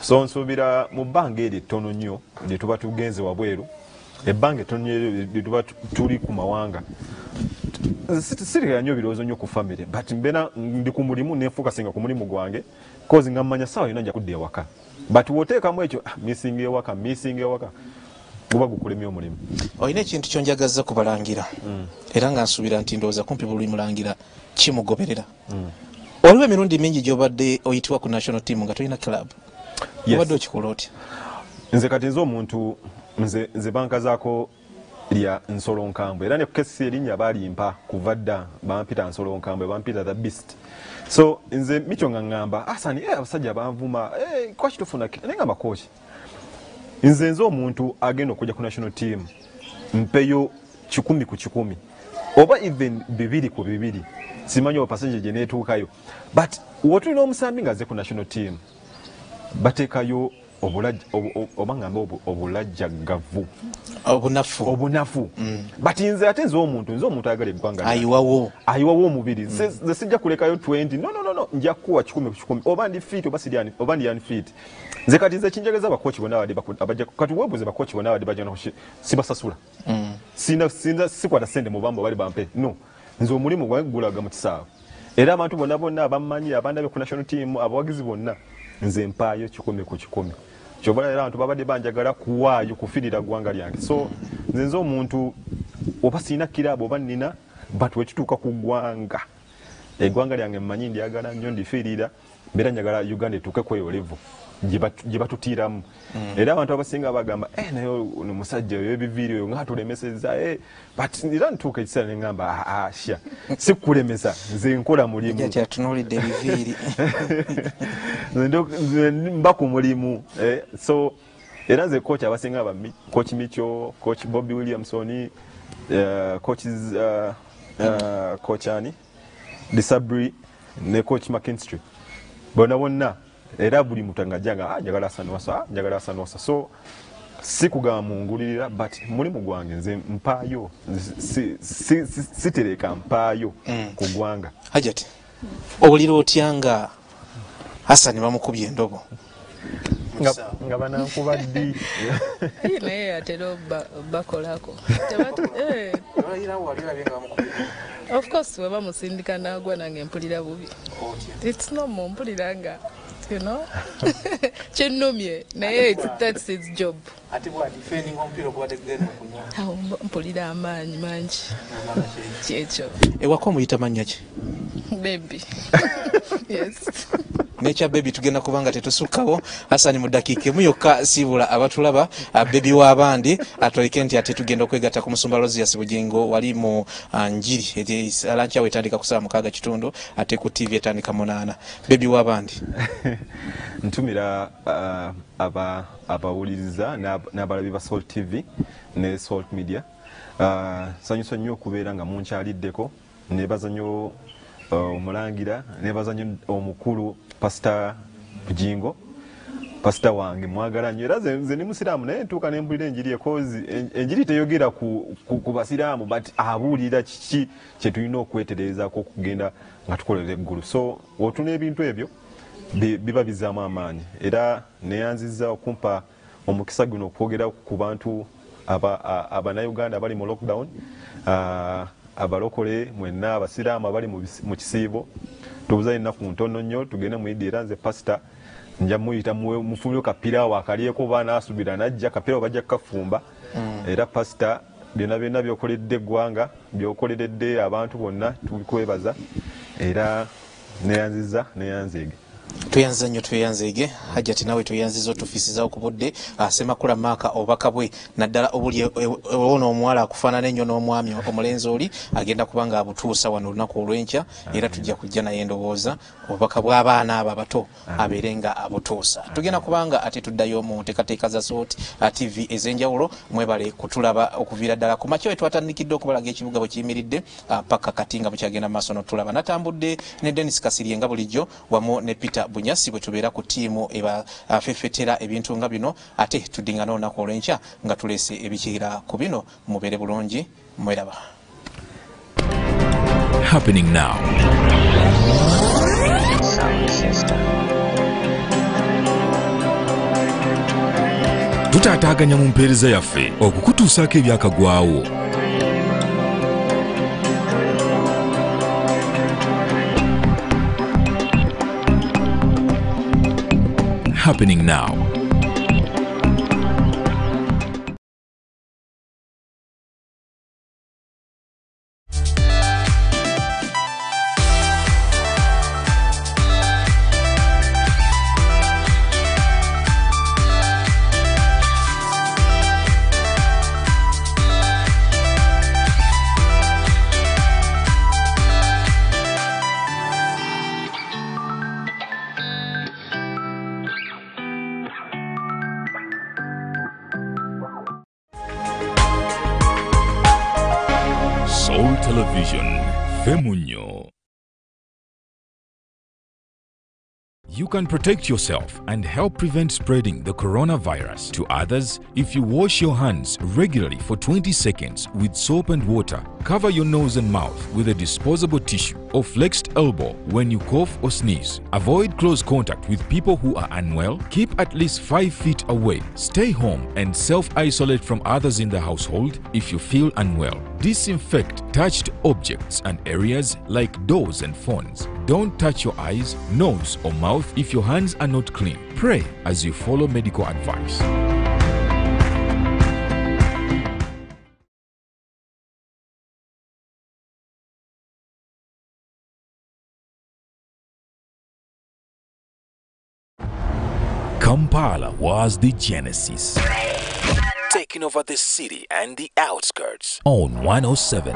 So nsuubira mu bbanga eryo ettono nnyo lye tuba tugenze wabweru, ebbanga ettono nnyo lye tuba tuli ku mawanga, sirikira nnyo birowoozo nnyo ku family but mbeera ndi ku mulimu nenfokasinga ku mulimu gwange cause nga mmanya ssaawa yonna nja kudda ewaka. But woteekamu ekyo missing ewaka missing ewaka guba gukulemya omulimu. Olina ekintu ky'onjagazza kubalangira mm. era nga nsuubira nti ndowooza kumpi buli mulangira kimugoberera. Mm. Waliwo emirundi mingi gy'obadde oyitibwa ku national team nga tolina club. Yes. Obadde okikola otya? Nze kati nze omuntu nze, nze bankazaako lya Nsolo Nkambwe era ne ku K C C erinnya baalimpa kuva dda bampita Nsolo Nkambwe bampita the beast. So nze micho nga ngamba Hassan eh abasajja banvuma eh kwaki tufuna naye ngamba coach nze nze omuntu agenda okujja ku national team mpeyo kikumi ku kikumi oba even bibiri ku bibiri simanyi oba passenger gye neetuukayo but wotulina omusambi nga azze ku national team bateekayo oba ngambe obulajjagavu obunafu obunafu. But nze ate nze omuntu nze omuntu ayagala eggwanga ayiwawo ayiwawo omubiri nze sijja kulekayo twenty no no no no nja kuwa kikumi ku kikumi oba ndi fit oba siri oba ndi unfit. Nze kati nze kinjageza abakochi bonna abadde abajja kati weebuuze bakochi bonna abadde bajja sibasasula sina sina sikwata ssente mu bambo bali bampe no nze omulimu gwange gulaga mu kisaawe era abantu bonna bonna abammanyi abandabe ku national team abawagizi bonna nze mpaayo kikumi ku kikumi. Kyova era abantu babadde banjagala kuwaayo kufiirira ggwanga lyange. So nze nze omuntu oba sirina kirabo oba nnina but wekituuka ku ggwanga eggwanga lyange mmanyi ndyagala nnyo ndifiirira mbeera njagala Uganda etuuke ku eyo level gye batutiiramu. Era abantu abasinga bagamba eh naye ono musajja oyo ebiviiri oyo nga atulemesezza eh but era ntuuka ekiseera ne ŋŋamba ah sha sikulemesa nze nkola mulimu. Kyatunuulidde ebiviiri. Nze mba ku mulimu eh so era nze coach abasinga ba coach Micho, coach Bobby Williamson, uh, coaches uh, uh, coach ani Disabri ne coach McKinstry bonna bonna era buli muntu ngajjanga ah njagala Hassan Wasswa, njagala Hassan Wasswa. So si kugamba mungulirira, but mulimu gwange nze mpaayo, sitereka mpaayo mm. ku ggwanga. Hajat, owulira otya nga Hassan bamukubye endobo? Nga, nga banankuba ddi? Naye atera bakolako. Of course we bamusindika nagwa nange mpulira bubi. It's normal, mpulira nga you know kinnumye naye that's his job. Ate bwa defending omupiira ogubadde gugenda okunywa. Awo mpulira amaanyi mangi. Kyekyo. Ewaka omuyita mannya ki? Baby. Yes. Nekya baby tugenda kubanga tetusukkawo. Hassan mu ddakiika emu yokka siibula abatulaba baby w'abandi atoleke nti ate tugenda okwegatta ku musumba Rosius Bugingo wali mu njiri alankyawo etandika ku ssaawa mukaaga kitundu ate ku T V etandika munaana. Baby w'abandi. Ntumira uh, aba abawuliriza n'abalabi ba Salt T V ne Salt Media. Uh, nsanyusa nnyo okubeera nga munkyaliddeko, nebaza nnyo omulangira, uh, nebaza nnyo omukulu Pastor Bugingo, pastor wange mwagala nnyo era nze ndi musiraamu naye ntuuka ne mpulira enjiri ekozi enjiri teyogera ku, ku, ku basiraamu but abuulira kiki kye tulina okwetereezaako okugenda nga tukolera eggulu. So otuna ebintu ebyo biba bizaamu amaanyi era neyanzizza okumpa omukisa guno okwogera ku bantu abannayuganda abali mu lockdown, uh, abalokole mwenna abasiraamu abali mu kisiibo. Tubuza ennaku ntono nnyo tugende mu Idi era nze pastor nja muyita mufumbire kapiraawo akalyeko baana asubira najja kapiraawo bajja kukafumba. Mm. Era pastor byonna byonna byokoledde eggwanga byokoleredde abantu bonna tukwebaza era neyanziza neyanzeege. Tweyanza nnyo tweyanzeege. Hajjati nawe tweyanziza otufisizaawo ku budde. Ssemakula Maaka obubaka bwe naddala obuli ono omuwala akufaanana ennyo n'omwami omulenzi oli agenda kuba nga abutuusa wano olunaku olw'enkya era tujja kujja naye ndowooza obubaka bw'abaana abo abato abeere nga abutuusa. Tugenda kubanga ate tuddayo mu nteekateeka za Salt T V ez'enjawulo. Mwebale kutulaba okuviira ddala ku makya we twatandikidde okubalaga ekibuga bwe kiyimiridde paka kati nga bukyagenda mu maaso n'otulaba. Natambudde ne Dennis Kasirye nga bulijjo wamu ne Peter Bunyasi bwe tubeera ku ttiimu ebafefetera ebintu nga bino ate tuddingana olunaku olw'enkya nga tuleese ebikira ku bino. Mubeere bulungi, mweraba. Happening now. Tutaataaganya mu mpeereza yaffe okukutuusaako ebyakagwawo. Happening now. Television, Femunyo. You can protect yourself and help prevent spreading the coronavirus to others if you wash your hands regularly for twenty seconds with soap and water. Cover your nose and mouth with a disposable tissue or flexed elbow when you cough or sneeze. Avoid close contact with people who are unwell. Keep at least five feet away. Stay home and self-isolate from others in the household if you feel unwell. Disinfect touched objects and areas like doors and phones. Don't touch your eyes, nose or mouth if your hands are not clean. Pray as you follow medical advice. Kampala was the genesis, taking over the city and the outskirts on one oh seven.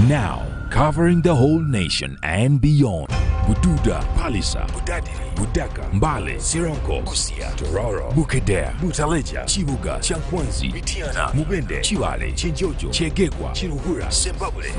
Now, covering the whole nation and beyond. Bududa, Palisa, Budadiri, Budaka, Mbale, Sironko, Busia, Tororo, Bukedea, Butaleja, Chibuga, Chankwanzi, Mitiana, Mubende, Chivale, Chinjojo, Chegegwa, Chiruhura, Sembabule,